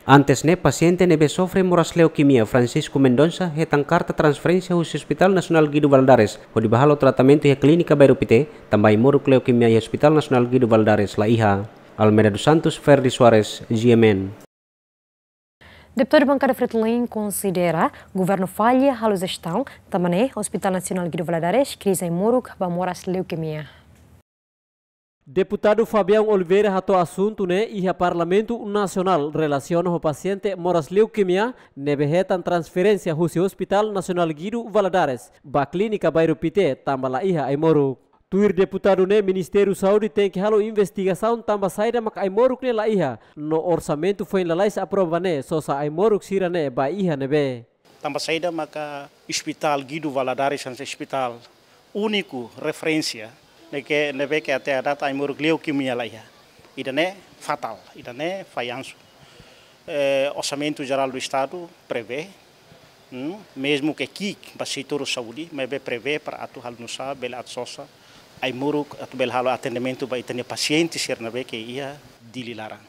Antes ne'e, pasiente ne'ebé sofre moras leukemia, Francisco Mendonça, hetan karta transferénsia husi Hospital Nasionál Guido Valadares hodi bá halo tratamentu iha Klínika Bairru Pité, tanba ai-moruk leukemia iha Hospital Nasionál Guido Valadares la iha. Almeida dos Santos, Ferdi Soares, G M N. Deputadu Bankada Fretilin konsidera governu falla halo jestaun, tanba ne'e Hospital Nasionál Guido Valadares krize ai-moruk ba moras leukemia. Deputadu Fabião Oliveira hato'o asuntu ne'e iha Parlamentu Nasionál relasiona ho pasiente moras leukemia ne'ebé hetan transferénsia husi Hospital Nasionál Guido Valadares ba Klínika Bairru Pité tanba la iha ai-moruk. Tuir deputadu ne'e, Ministériu Saúde tenke halo investigasaun tanba saida mak ai-moruk ne'e la iha, no orsamentu foin lalais aprova ne'e sosa ai-moruk sira ne'e ba iha ne'ebé. Tanba saida maka Hospital Guido Valadares hanesan ospitál úniku referénsia, ne'ebé ke, ne'ebé ke até à data ai-moruk leukemia la iha. Ida-ne'e fatál, ida-ne'e fallansu. Eh, Orsamentu Jerál do Estadu prevee, hmm, mezmu ke ki'ik ba setór saúde, maibé prevee para atu halo nu'usá bele atu sosa ai-moruk atu bele halo atendimentu ba ita-nia pasiente sira ne'ebé ke iha Dili laran.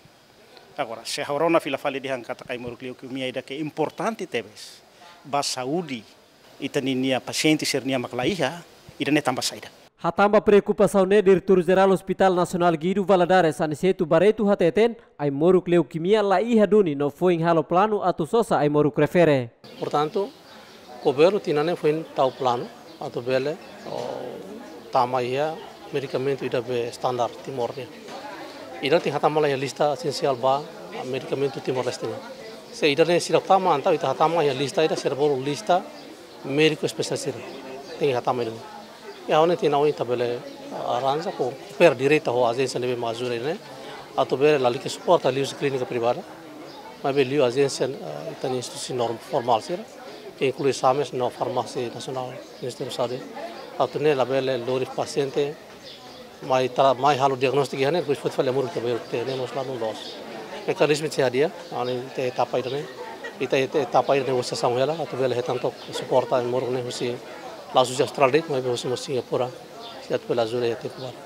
Agora, se ha'u rona fila fali dehan katak ai-moruk leukemia ida ke importante tebes ba saúde ita ninia pasiente sira-nia mak la iha, ida-ne'e tanba saida? Hatán ba preokupasaun ne'e, Diretór Jerál Hospital Nasionál Guido Valadares, Aniceto Barreto hateten, ai-moruk leukemia la iha duni no foin halo planu atu sosa ai-moruk refere. Portantu, governu tinan ne'e foin tau planu atu bele, oh, tama iha medikamentu ida be standar Timor nian. Ida tenke hatama lai iha lista esensiál ba medikamentu Timor-Leste nian. Se ida-ne'e seidauk tama, entaun ita hatama iha lista ida, sira bolu lista médiku espesialista sira. Tenke hatama ida-ne'e. Ya, ha'u-nia tinan oin ita bele, ah, arranja ko koopera direta ho ajénsia ne'ebé mak ajuda ne'e. Atu bele lalika suporta liuhusi klínika privada. Maibé liu ajénsia, eh, ita-nia instituisaun norm-, formál sira, ke inklui SAMES no Farmásia Nasionál Ministériu Saúde. Atu nune'e labele lori pasiente mai tra-, mai halo diagnóstiku iha ne'e, depois foti fali ai-moruk ita bele tene mós la loos. Mekanizmu sei hadi'a, entaun iha etapa ida-ne'e, ita, ita etapa ida negosiasaun hela, atu bele hetan took suporta ai-moruk ne'e husi, la husi Austrália de'it, maibé husi mós Singapura, se atu bele ajuda iha tempu badak.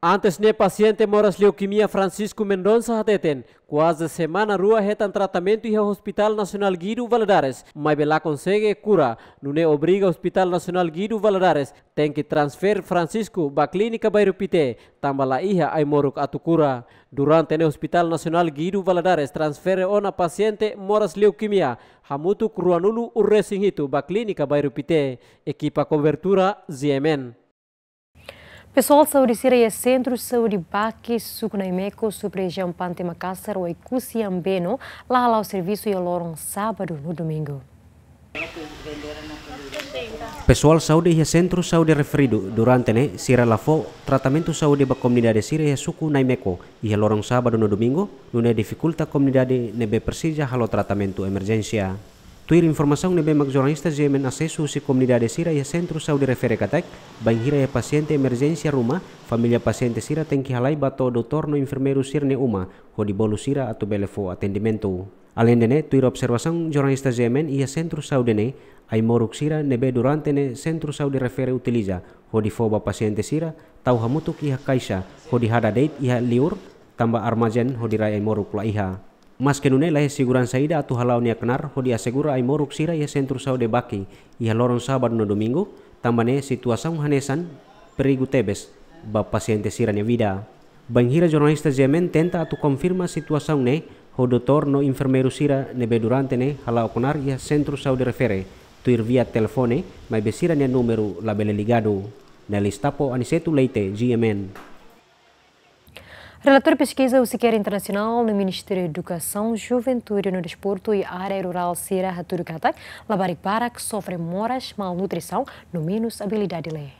Antes ne'e, pasiente moras leukemia Francisco Mendonça hateten, kuaze semana rua hetan tratamentu iha Hospital Nasionál Guido Valadares, maibé la konsege kura, nune'e obriga Hospital Nasionál Guido Valadares tenke transfere Francisco ba Klínika Bairru Pité, tanba la iha ai-moruk atu kura. Durante ne'e Hospital Nasionál Guido Valadares transfere ona pasiente moras leukemia hamutuk ruanulu-resin-hitu ba Klínika Bairru Pité. Ekipa kobertura, G M N. Pesoál saúde sira iha Sentru Saúde Baki, Suku Naimeco, Sub-Rejiaun Pante Makasar, Oekusi Ambeno, la hala'o servisu iha loron sábadu no domingu. Pesoál saúde iha sentru saúde referidu durante ne'e sira la fó tratamentu saúde ba komunidade sira iha Suku Naimeco iha loron sábadu no domingu, nune'e difikulta komunidade ne'ebé presiza halo tratamentu emerjénsia. Tuir informasaun ne'ebé mak jornalista G M N asesu husi komunidade sira iha sentru saúde refere katak, bainhira iha pasiente emerjénsia ruma, família pasiente sira tenke halai ba to'o doutór no enfermeiru sira-nia uma, hodi bolu sira atu bele fó atendimentu. Aleinde ne'e, tuir observasaun jornalista G M N iha sentru saúde ne'e, ai-moruk sira ne'ebé durante ne'e sentru saúde refere utiliza, hodi fó ba pasiente sira, tau hamutuk iha kaixa, hodi hada de'it iha liur, tanba armazén hodi rai ai-moruk la iha. Maske nune'e, la iha seguransa ida atu hala'o nia knaar hodi asegura ai-moruk sira iha sentru saúde Baki iha loron sábadu no domingu, tanba ne'e situasaun hanesan perigu tebes ba pasiente sira-nia vida. Bainhira jornalista G M N tenta atu konfirma situasaun ne'e ho doutór no enfermeiru sira ne'ebé durante ne'e hala'o knaar iha sentru saúde refere, tuir via telefone, maibé sira-nia númeru labele ligadu. Nelis Tapo, Aniceto Leite, G M N. Relatóriu peskiza husi CARE Internasionál no Ministériu Edukasaun, Juventude no Desportu i Área Rurál sira hatudu katak labarik barak sofre moras, malnutrisaun no menus abilidade lee.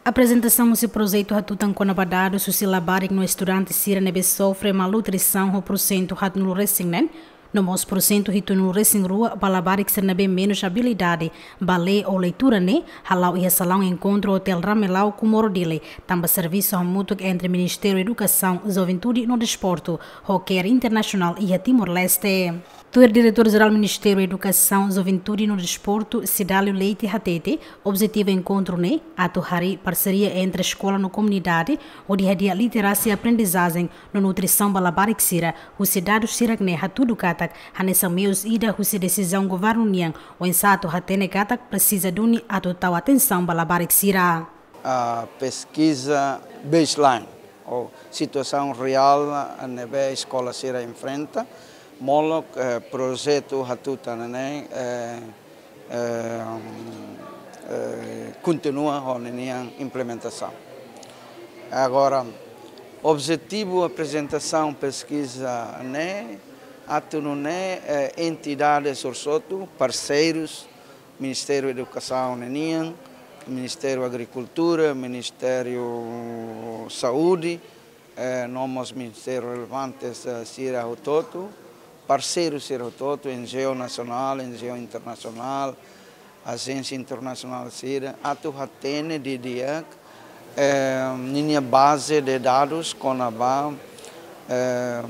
Aprezentasaun husi projetu hatutan kona-ba dadus husi labarik no estudante sira ne'ebé sofre malnutrisaun ho pursentu haatnulu-resin-neen, no mós pursentu hitunulu-resin-rua ba labarik sira ne'ebé menus abilidade ba lee ou leitura ne'e hala'o iha salaun enkontru Hotel Ramelau, Comoro, Dili, tanba servisu hamutuk entre Ministériu Edukasaun, Juventude no Desportu ho CARE Internasionál iha Timor-Leste. Tuir Diretór Jerál Ministériu Edukasaun, Juventude no Desportu, Cidálio Leite hateten, objetivu enkontru ne'e atu harii parseria entre eskola no komunidade, hodi hadi'a literasia aprendizajen no nutrisaun ba labarik sira, husi dadus sira-ne'e hatudu katak hanesan meius ida husi desizaun governu nian, oinsá atu hatene katak presiza duni atu tau atensaun ba labarik sira. Ah, peskiza baseline, ou situasaun reál ne'ebé eskola sira enfrenta, molok, eh, projetu hatutan ne'e, eh, eh, eh, kontinua ho ninia implementasaun. Agora, objetivu aprezentasaun peskiza ne'e, atu nune'e, eh, entidades hotu-hotu, parseirus, Ministériu Edukasaun ninian, Ministériu Agrikultura, Ministériu Saúde, eh, no mós ministériu relevantes, eh, sira hotu-hotu, parseiru sira hotu-hotu, N G O nasionál, N G O internasionál, ajénsia internasionál sira, atu hatene didi'ak, eh, ninia baze de dadus kona-ba, eh,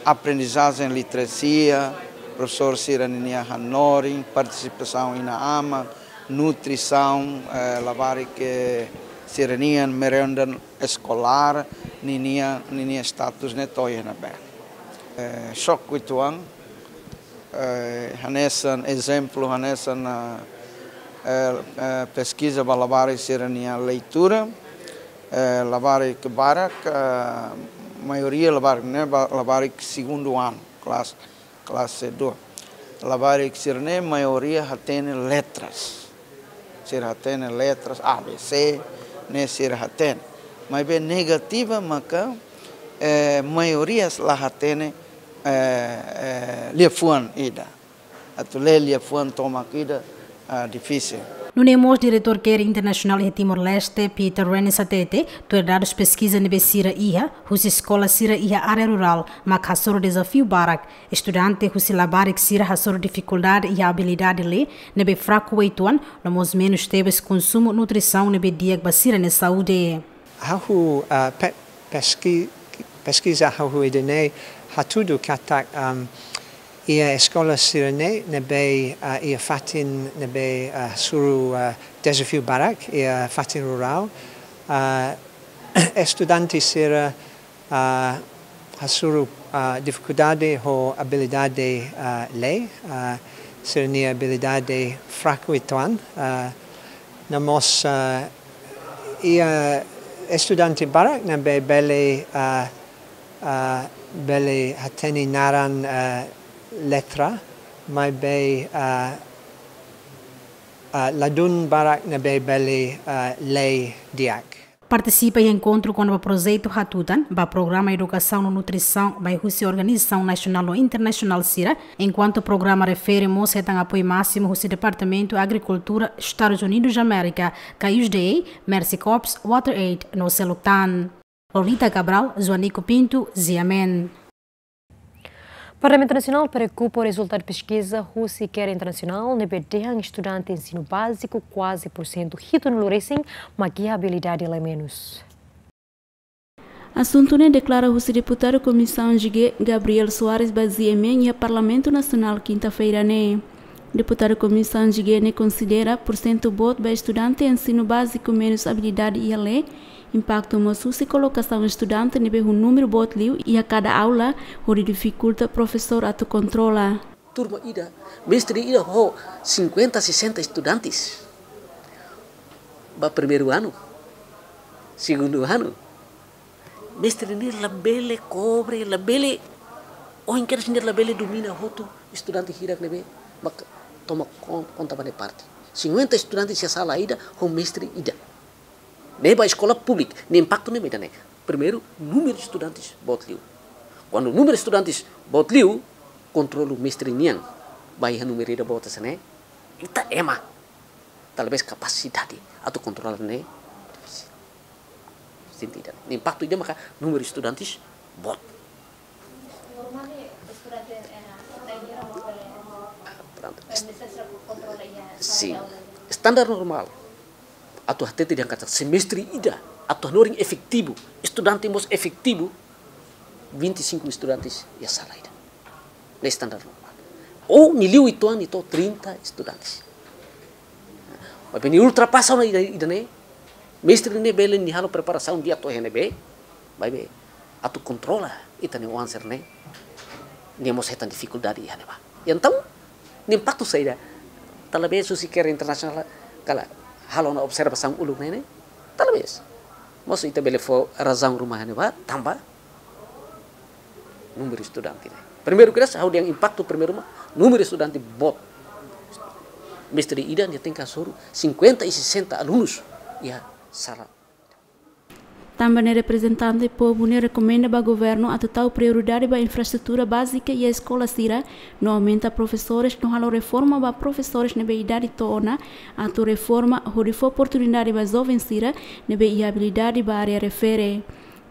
aprendizajen literasia, profesór sira ninia hanorin, partisipasaun inan-aman, nutrisaun, eh, labarik, eh, sira-nian, merenda eskolár, ninia, ninia status ne'e to'o iha ne'ebé. Eh, xoke uitoan, eh, hanesan ezemplu, hanesan, eh, eh, eh, peskiza ba labarik sira-nia leitura, eh, labarik barak, eh, maioria labarik ne'e ba, labarik segundu anu, klase, klase dua. Labarik sira-ne'e maioria hatene letras. Sira hatene letras A B C, ne'e sira hatene. Maibé negativa maka, eh, maioria la hatene, eh, eh, liafuan ida. Atu lee liafuan tomak ida, ah, difisil. Nune'e mós Diretór CARE Internasionál iha Timor-Leste, Peter Rennes hatete, tuir dadus peskiza ne'ebé sira iha, husi eskola sira iha área rurál, mak hasoru dezafiu barak, estudante husi labarik sira hasoru difikuldade iha abilidade lee, ne'ebé fraku uitoan, no mós menus tebes konsumu nutrisaun ne'ebé di'ak ba sira-nia saúde. Ha'u, ah, pe-, peski-, peskiza ha'u ida-ne'e hatudu katak, am, iha eskola sira-ne'e ne'ebé, ah, iha fatin ne'ebé, ah, hasoru, ah, dezafiu barak, iha fatin rurál, ah, estudante sira, ah, hasoru, ah, difikuldade ho abilidade, ah, lee, ah, sira-nia abilidade fraku uitoan, ah, no mós, ah, iha estudante barak ne'ebé bele, ah, ah, bele hatene naran, ah, letra, maibé, ah, ah, ladún barak ne'ebé bele, ah, lee di'ak. Partisipa iha enkontru kona-ba projetu hatutan ba programa edukasaun no nutrisaun mai husi organizasaun nasionál no internasionál sira, enkuantu programa refere mós hetan apoiu másimu husi Departamentu Agrikultura Estadus Unidus Amérika, ka U S D A, Mercy Corps, WaterAid, no seluk tan. Lolita Cabral, Joanico Pinto, G M N. Parlamentu Nasionál preokupa ho rezultadu peskiza husi CARE Internasionál ne'ebé dehan estudante ensinu báziku kuaze porsentu hitunulu resin mak iha abilidade lee menus. Asuntu ne'e deklara husi deputadu Komisaun G G, Gabriel Soares, ba G M N iha Parlamentu Nasionál, kinta-feira ne'e. Deputadu Komisaun G G ne'e konsidera porsentu boot ba estudante ensinu báziku menus abilidade iha lee, impaktu mós husi kolokasaun estudante ne'ebé ho númeru boot liu iha kada aula, hodi difikulta profesór atu kontrola. Turma ida, mestre ida ho cinquenta, sessenta estudantes. Ba primeiru anu, segundu anu. Mestre ne'e labele kobre, labele, ohin kedas ne'e labele domina hotu estudante hirak ne'ebé mak toma kon-, konta ba nia parte. Cinquenta estudantes iha sala ida, ho mestre ida. Ne'e ba eskola públika, nia impaktu ne'e mak ida-ne'e. Primeiru, númeru estudantes boot liu. Kuandu númeru estudantes boot liu, kontrolu mestre nian ba iha númeru ida boot hanesan ne'e, ita ema. Talvés kapasidade atu kontrola ne'e. Sentido. Impaktu ida maka númeru estudantes boot. Pronto. Sin. Standar normál. Atu hatete dehan katak semestre ida, atu hanorin efetivu, estudante mós efetivu, vinte e cinco estudantes iha sala ida. Ne'e standar normál. Ou nia liu uitoan nia to'o trinta estudantes. Maibé nia ultrapasa ona ida, ida-ne'e, mestre ne'e bele nia halo preparasaun di'ak to'o iha ne'ebé, maibé atu kontrola ita-nia oan sira-ne'e, nia mós hetan difikuldade iha ne'ebá. Entaun, nia impaktu saida? Talvés husi CARE Internasionál kala halo ona observasaun uluk ne'e, ne'e? Talvés. Mas ita bele fó razaun ruma iha ne'ebá, tanba númeru estudante ne'e. Primeiru kedas, ha'u dehan impaktu primeiru mak númeru estudante boot. Mestre ida nia tenke hasoru cinquenta e sessenta alunus iha sala. Tanba ne'e, reprezentante povu ne'e rekomenda ba governu atu tau prioridade ba infraestrutura bázika iha eskola sira, no aumenta profesores, no halo reforma ba profesores ne'ebé idade to'o ona, atu reforma hodi fó oportunidade ba joven sira ne'ebé iha abilidade ba área refere.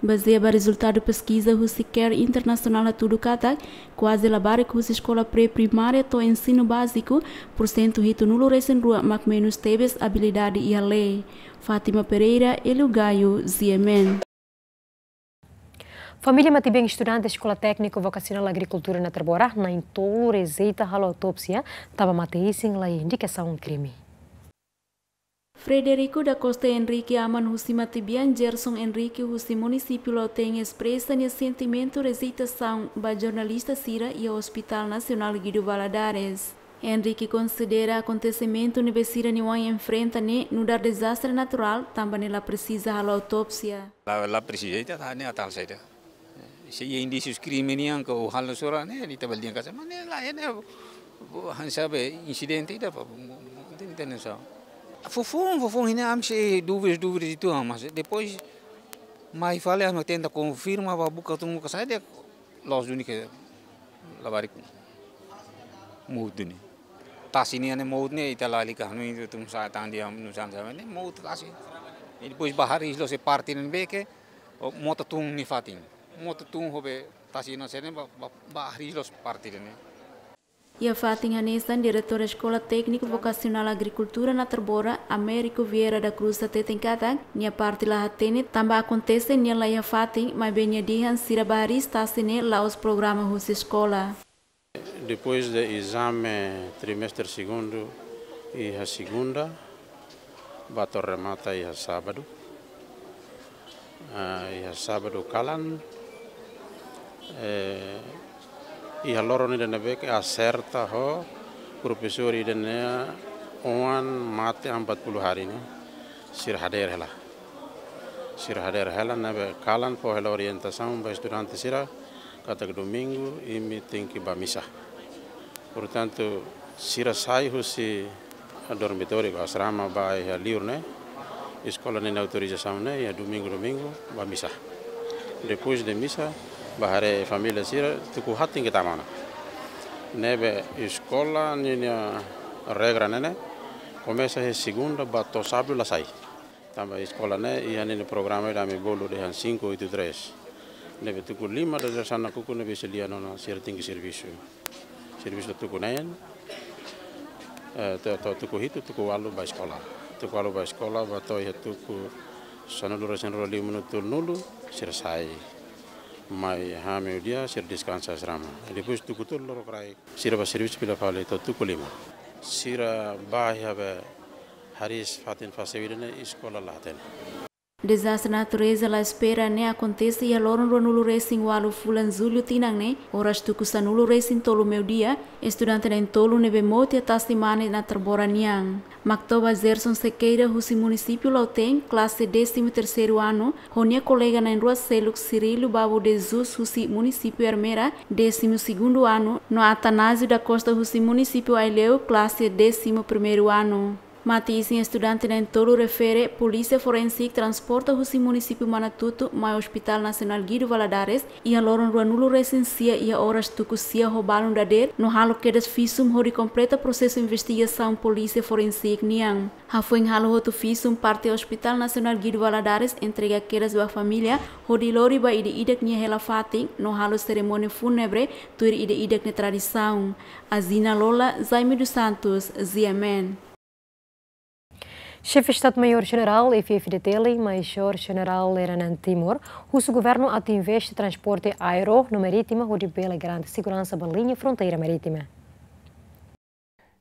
Bazeia ba rezultadu peskiza husi CARE Internasionál hatudu katak, kuaze labarik husi eskola pré-primária to'o ensinu báziku, pursentu hitunulu resin rua mak menus tebes abilidade iha lee. Fátima Pereira, Elio Gaio, G M N. Família matebian estudante Eskola Tékniku Vokasionál Agrikultura Natarbora na'in-tolu rejeita halo autópsia, tanba mate-isin la iha indikasaun krime. Frederico da Costa Henrique, aman husi matebian Gerson Henrique husi munisípiu Lautém, espresa nia sentimentu rejeitasaun ba jornalista sira iha Hospital Nasionál Guido Valadares. Henrique konsidera akontesimentu ne'ebé sira-nia oan enfrenta ne'e nu'udar dezastre naturál, tanba ne'e la presiza halo autópsia. La, la presiza, ita hatene atal saida. Se iha indísius krime nian ka o halo sora ne'e, ita bele dehan katak, mas ne'e lae, ne'e, hanesan be insidente ida, pa, ita, ita hatene sá. Foufoun, foufoun, ne'e ami sei dúvidas, dúvidas uitoan, mas depois mai fali ami tenta konfirma, ba buka tun, buka saida, la'ós duni ke labarik mout duni. Tasi nian ne'e mout ne'e, ita lalika, no itu tum sa tan dia, no san sa, ne'e mout tasi. E depois ba hariis loos parte ne'ebé ke, o, mota tun nia fatin. Mota tun ho be tasi na sene ba, ba, ba hariis loos parte ne'e. Iha fatin hanesan, Diretór Eskola Tékniku Vokasionál Agrikultura Natarbora, Américo Vieira da Cruz hateten katak, nia parte la hatene tanba akontese nia la iha fatin, maibé nia dehan sira ba hariis tasi ne'e la'ós programa husi eskola. Depois de ezame trimestre segundu iha segunda, ba to'o remata iha sábadu. Ah, iha sábadu kalan, eh, iha loron ida ne'ebé ke aserta ho profesór ida-ne'e oan mate empat puluh hari ne'e, sira hadeer hela. Sira hadeer hela ne'ebé kalan fó hela orientasaun ba estudante sira katak domingu imi tenke ba misa. Portantu, sira sai husi dormitóriu ka asrama ba iha liur ne'e, eskola nia autorizasaun ne'e, iha domingu, domingu, ba misa. Depois de misa, ba haree família sira, tuku haat tenke tama ona. Ne'ebé eskola nia regra ne'e, komesa iha segunda ba to'o sábadu la sai. Tanba eskola ne'e iha ninia programa ida ami bolu dehan cinco oito três. Ne'ebé tuku lima dadeer-saan nakukun ne'ebé sei lia ona sira tenke servisu. Servisu tuku neen, eh, to'o, to'o tuku hitu, tuku ualu ba eskola. Tuku ualu ba eskola, ba to'o iha tuku sanulu resin rua lima minutu tolunulu, sira sai. Mai hameio-dia, sira deskansa asrama. Depois tuku tolu loron kraik, sira ba servisu fila fali to'o tuku lima. Sira ba iha be hariis fatin fase vida ne'e eskola la hatene. Dezastre natureza la espera ne'e akontese iha loron ruanulu resin ualu fulan Jullu tinan ne'e, oras tuku sanulu resin tolu meiudia, estudante na'in-tolu ne'ebé mout iha tasi mane Natarbora nian. Mak toba Gerson Sequeira husi munisípiu Lautém, klase décimo terceiro ano, ho nia kolega na'in-rua seluk Cirilo Babo de Jesus husi munisípiu Ermera, décimo segundo ano, no Atanásio da Costa husi munisípiu Aileu, klase décimo primeiro ano. Mate-isin estudante na'in-tolu refere, Polísia Forensik transporta husi munisípiu Manatuto mai Hospital Nasionál Guido Valadares, iha loron ruanulu resin sia iha oras tuku sia ho balun dadeer, no halo kedas visum hodi kompleta prosesu investigasaun Polísia Forensik nian. Hafoin halo hotu visum, parte Hospital Nasionál Guido Valadares entrega kedas ba família, hodi lori ba ida-idak nia hela fatin, no halo serimónia fúnebre, tuir ida-idak nia tradisaun. Azina Lola, Jaime dos Santos, G M N. Xefe Estadu-Maiór Jenerál F F D T L, Majór Jenerál Lere Anan Timur, husu governu atu investe transporte aéreu no marítima hodi bele garante seguransa ba liña fronteira marítima.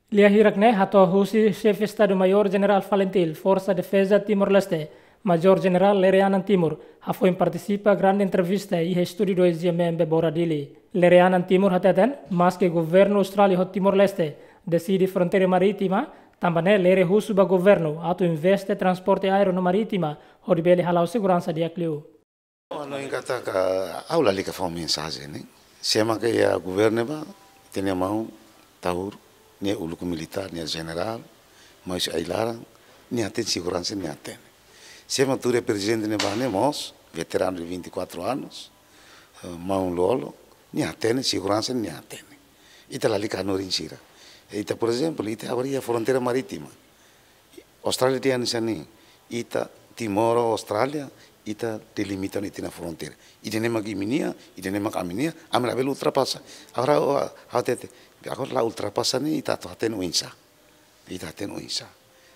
Lia hirak ne'e hato'o husi Xefe Estadu-Maiór Jenerál FALINTIL, Forsa Defeza Timor-Leste, Majór Jenerál Lere Anan Timur, hafoin partisipa grande entrevista iha estúdiu dois G M M Bebora Dili. Lere Anan Timur hateten, maske governu Austrália ho Timor-Leste deside fronteira marítima, tanba ne'e Lere husu ba governu atu investe transporte aéreu no marítima, hodi bele hala'o seguransa di'ak liu. Ha'u hanoin katak ha'u lalika fó mensajen ne'e. Se ema ke iha governu ba, ita-nia maun Taur, nia uluk militár, nia jenerál, mas ai-laran, nia hatene seguransa, nia hatene. Sé mak tuur iha prezidente ne'ebá ne'e mós, veteranu de vinte e quatro anos, eh, maun-lolon, nia hatene, seguransa nia hatene. Ita lalika hanorin sira. Ita, por ezemplu, ita agora iha fronteira marítima. Austrália tiha hanesan ne'e, ita Timor ho Austrália, ita delimita ona ita-nia fronteira. Ida-ne'e mak imi-nia, ida-ne'e mak ami-nia, ami labele ultrapasa. Agora, ha'u, ha'u hatete, agora la ultrapasa ne'e, ita atu hatene oinsá. Ita hatene oinsá.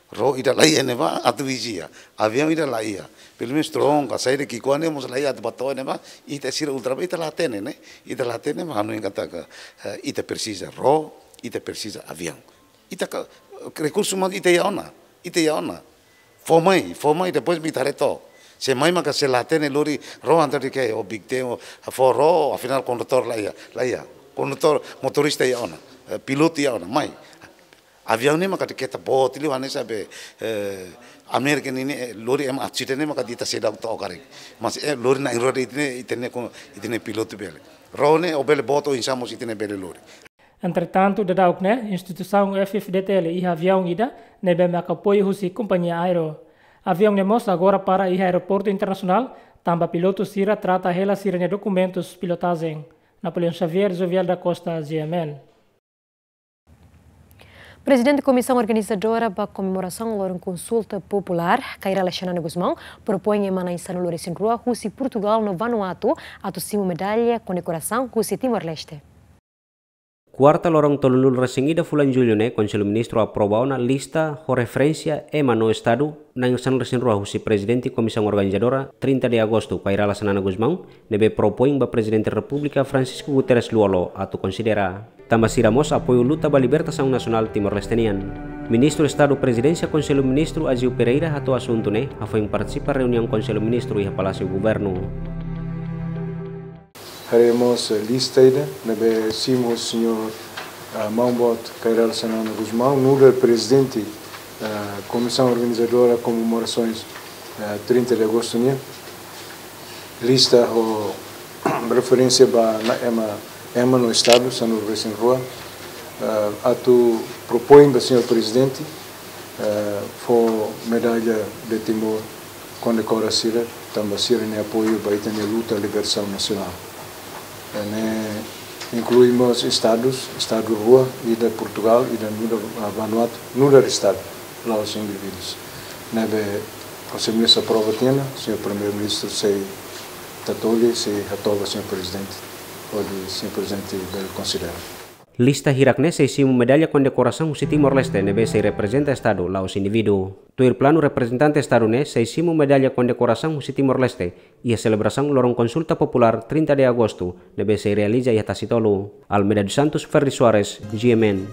Ró ida laiha ne'ebá atu vizia. Aviaun ida laiha. Pelumenus tronka, saida ki'ikoan ne'e mós laiha atu bá to'o ne'ebá. Ita sira ultrapasa, ita la hatene, ne'e. Ita la hatene, mas hanoin katak, eh, ita presiza ró, ita presiza aviaun. Ita ka, rekursu mak ita iha ona. Ita iha ona. Fó mai, fó mai, depois ita haree took. Se mai maka se la hatene lori ró, entaun ita ke, o big te, o, fó ró, afinál kondutór laiha, laiha. Kondutór, motorista iha ona. Eh, pilotu iha ona, mai. Aviaun ne'e maka ita keta boot liu hanesan be, eh, Amérika nian ne'e, eh, lori ema asidente ne'e maka ita seidauk to'o karik. Mas, eh, lori na'in-rua de'it ne'e, ita-nia ko, ita-nia pilotu bele. Ró ne'e, ó bele boot oinsá mós ita-nia bele lori. Entretantu, daudaun ne'e, instituisaun F F D T L iha aviaun ida ne'ebé mak apoiu husi kompañia aéreu. Aviaun ne'e mós agora para iha aeroportu internasionál, tanba pilotu sira trata hela sira-nia dokumentus pilotajen. Napoleão Xavier, Jovial da Costa, G M N. Prezidente Komisaun Organizadora ba komemorasaun loron konsulta populár, Kay Rala Xanana Gusmão, propoin ema na'in sanulu-resin-rua husi Portugal no Vanuatu atu simu medalla kondekorasaun husi Timor-Leste. Kuarta loron tolunulu-resin-ida fulan Jullu ne'e, Konsellu Ministru aprova ona lista ho referénsia ema no estadu na'in sanulu-resin-rua husi Prezidente Komisaun Organizadora trinta de Agosto, Kay Rala Xanana Gusmão, ne'ebé propoin ba Prezidente Repúblika Francisco Guterres Lú-Olo atu konsidera. Tanba sira mós apoiu luta ba libertasaun nasionál Timor-Leste nian. Ministru Estadu Prezidénsia Konsellu Ministru Aziu Pereira hato'o asuntu ne'e hafoin partisipa reuniaun Konsellu Ministru iha Palásiu Governu. Haree mós, eh, lista ida ne'ebé simu señór, ah, maun boot Kay Rala Xanana Gusmão, nu'udar prezidente, ah, Komisaun Organizadora Komemorasoens, ah, trinta de Agosto nian. Lista ho referénsia ba na'in ema, ema no estadu sanulu-resin-rua, ah, atu propoin ba señór prezidente, eh, fó medalla de Timor kondekora sira, tanba sira-nia apoiu ba ita-nia luta libertasaun nasionál. Eh, ne'e inklui mós estadus, estadu rua, ida Portugal, ida nu'udar, ah, Vanuatu, nu'udar estadu, la'ós indivídus. Ne'ebé Konsellu Ministru aprova tiha ona, señór Primeiru-Ministru sei tatoli, sei hato'o ba señór prezidente, hodi señór prezidente bele konsidera. Lista hirak ne'e sei simu medalla kondekorasaun husi Timor-Leste ne'ebé sei reprezenta estadu, la'ós indivíduu. Tuir planu, reprezentante estadu ne'e sei simu medalla kondekorasaun husi Timor-Leste iha selebrasaun loron konsulta populár trinta de Agostu ne'ebé sei realiza iha Tasitolu. Almeida dos Santos, Ferri Soares, G M N.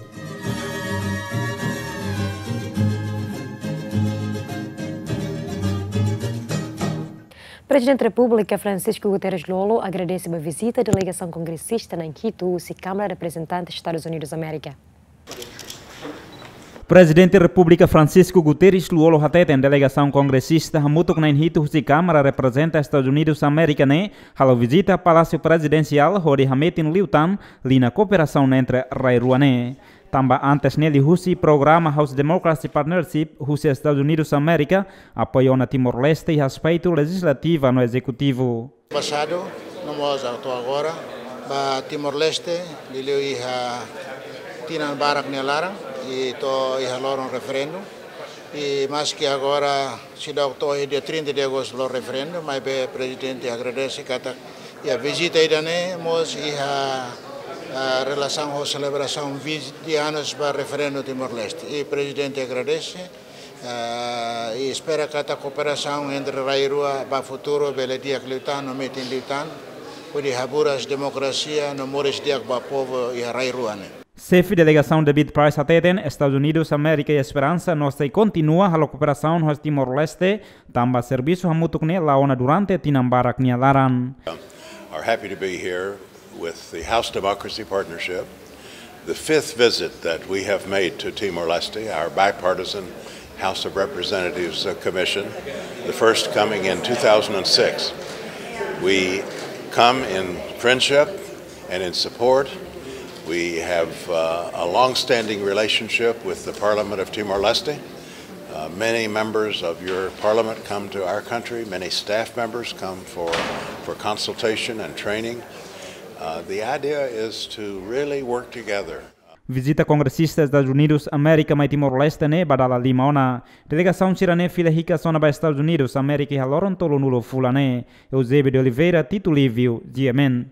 Prezidente Repúblika Francisco Guterres Lú-Olo agradese ba vizita delegasaun kongresista na'in hitu husi Kámara Reprezentante Estadus Unidus Amérika. Prezidente Repúblika Francisco Guterres Lú-Olo hateten delegasaun kongresista hamutuk na'in hitu husi Kámara Reprezentante Estadus Unidus Amérika ne'e halo vizita Palásiu Prezidensiál hodi hametin liután liña kooperasaun entre rai rua ne'e. Tanba antes ne'e liuhusi programa House Democracy Partnership husi Estadus Unidus Amérika apoiu ona Timor-Leste iha aspetu lejizlativu no ezekutivu. Pasadu, no mós atu agora, ba Timor-Leste, liuliu iha tinan barak nia laran, i to'o iha loron referendu. I maski agora seidauk to'o iha dia trinta de Agostu loron referendu, maibé Prezidente agradese katak iha vizita ida-ne'e mós iha, ah, relasaun ho selebrasaun vinte anos ba referendu Timor-Leste. I Prezidente agradese, ah, i espera katak kooperasaun entre rai rua ba futuru bele di'ak liután no metin liután, hodi haburas demokrasia no moris di'ak ba povu iha rai rua ne'e. Xefe delegasaun David Price hateten, Estadus Unidus Amérika iha esperansa no sei kontinua halo kooperasaun ho Timor-Leste, tanba servisu hamutuk ne'e la'o ona durante tinan barak nia laran. Are happy to be here with the House Democracy Partnership, the fifth visit that we have made to Timor-Leste, our bipartisan House of Representatives, uh, Commission, the first coming in two thousand six. We come in friendship and in support. We have, uh, a long-standing relationship with the Parliament of Timor-Leste. Uh, many members of your parliament come to our country, many staff members come for, for consultation and training. Uh, the idea is to really work together. Vizita kongresista Estadus Unidus Amérika mai Timor-Leste ne'e ba dala lima ona. Delegasaun sira-ne'e fila hikas ona ba Estadus Unidus Amérika iha loron tolunulu fulan ne'e. Eusébio de Oliveira, Tito Livio, G M N.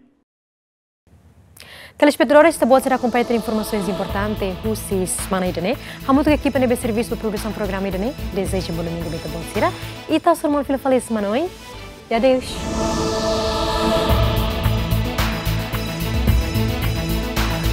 Telespetadores, ita-boot sira akompaña tuir informasaun importante husi semana ida-ne'e. Hamutuk ho ekipa ne'ebé servisu ba produsaun programa ida-ne'e, dezeja bom domingu ba ita-boot sira. Ita sei hasoru malu fila fali semana oin. E adeus.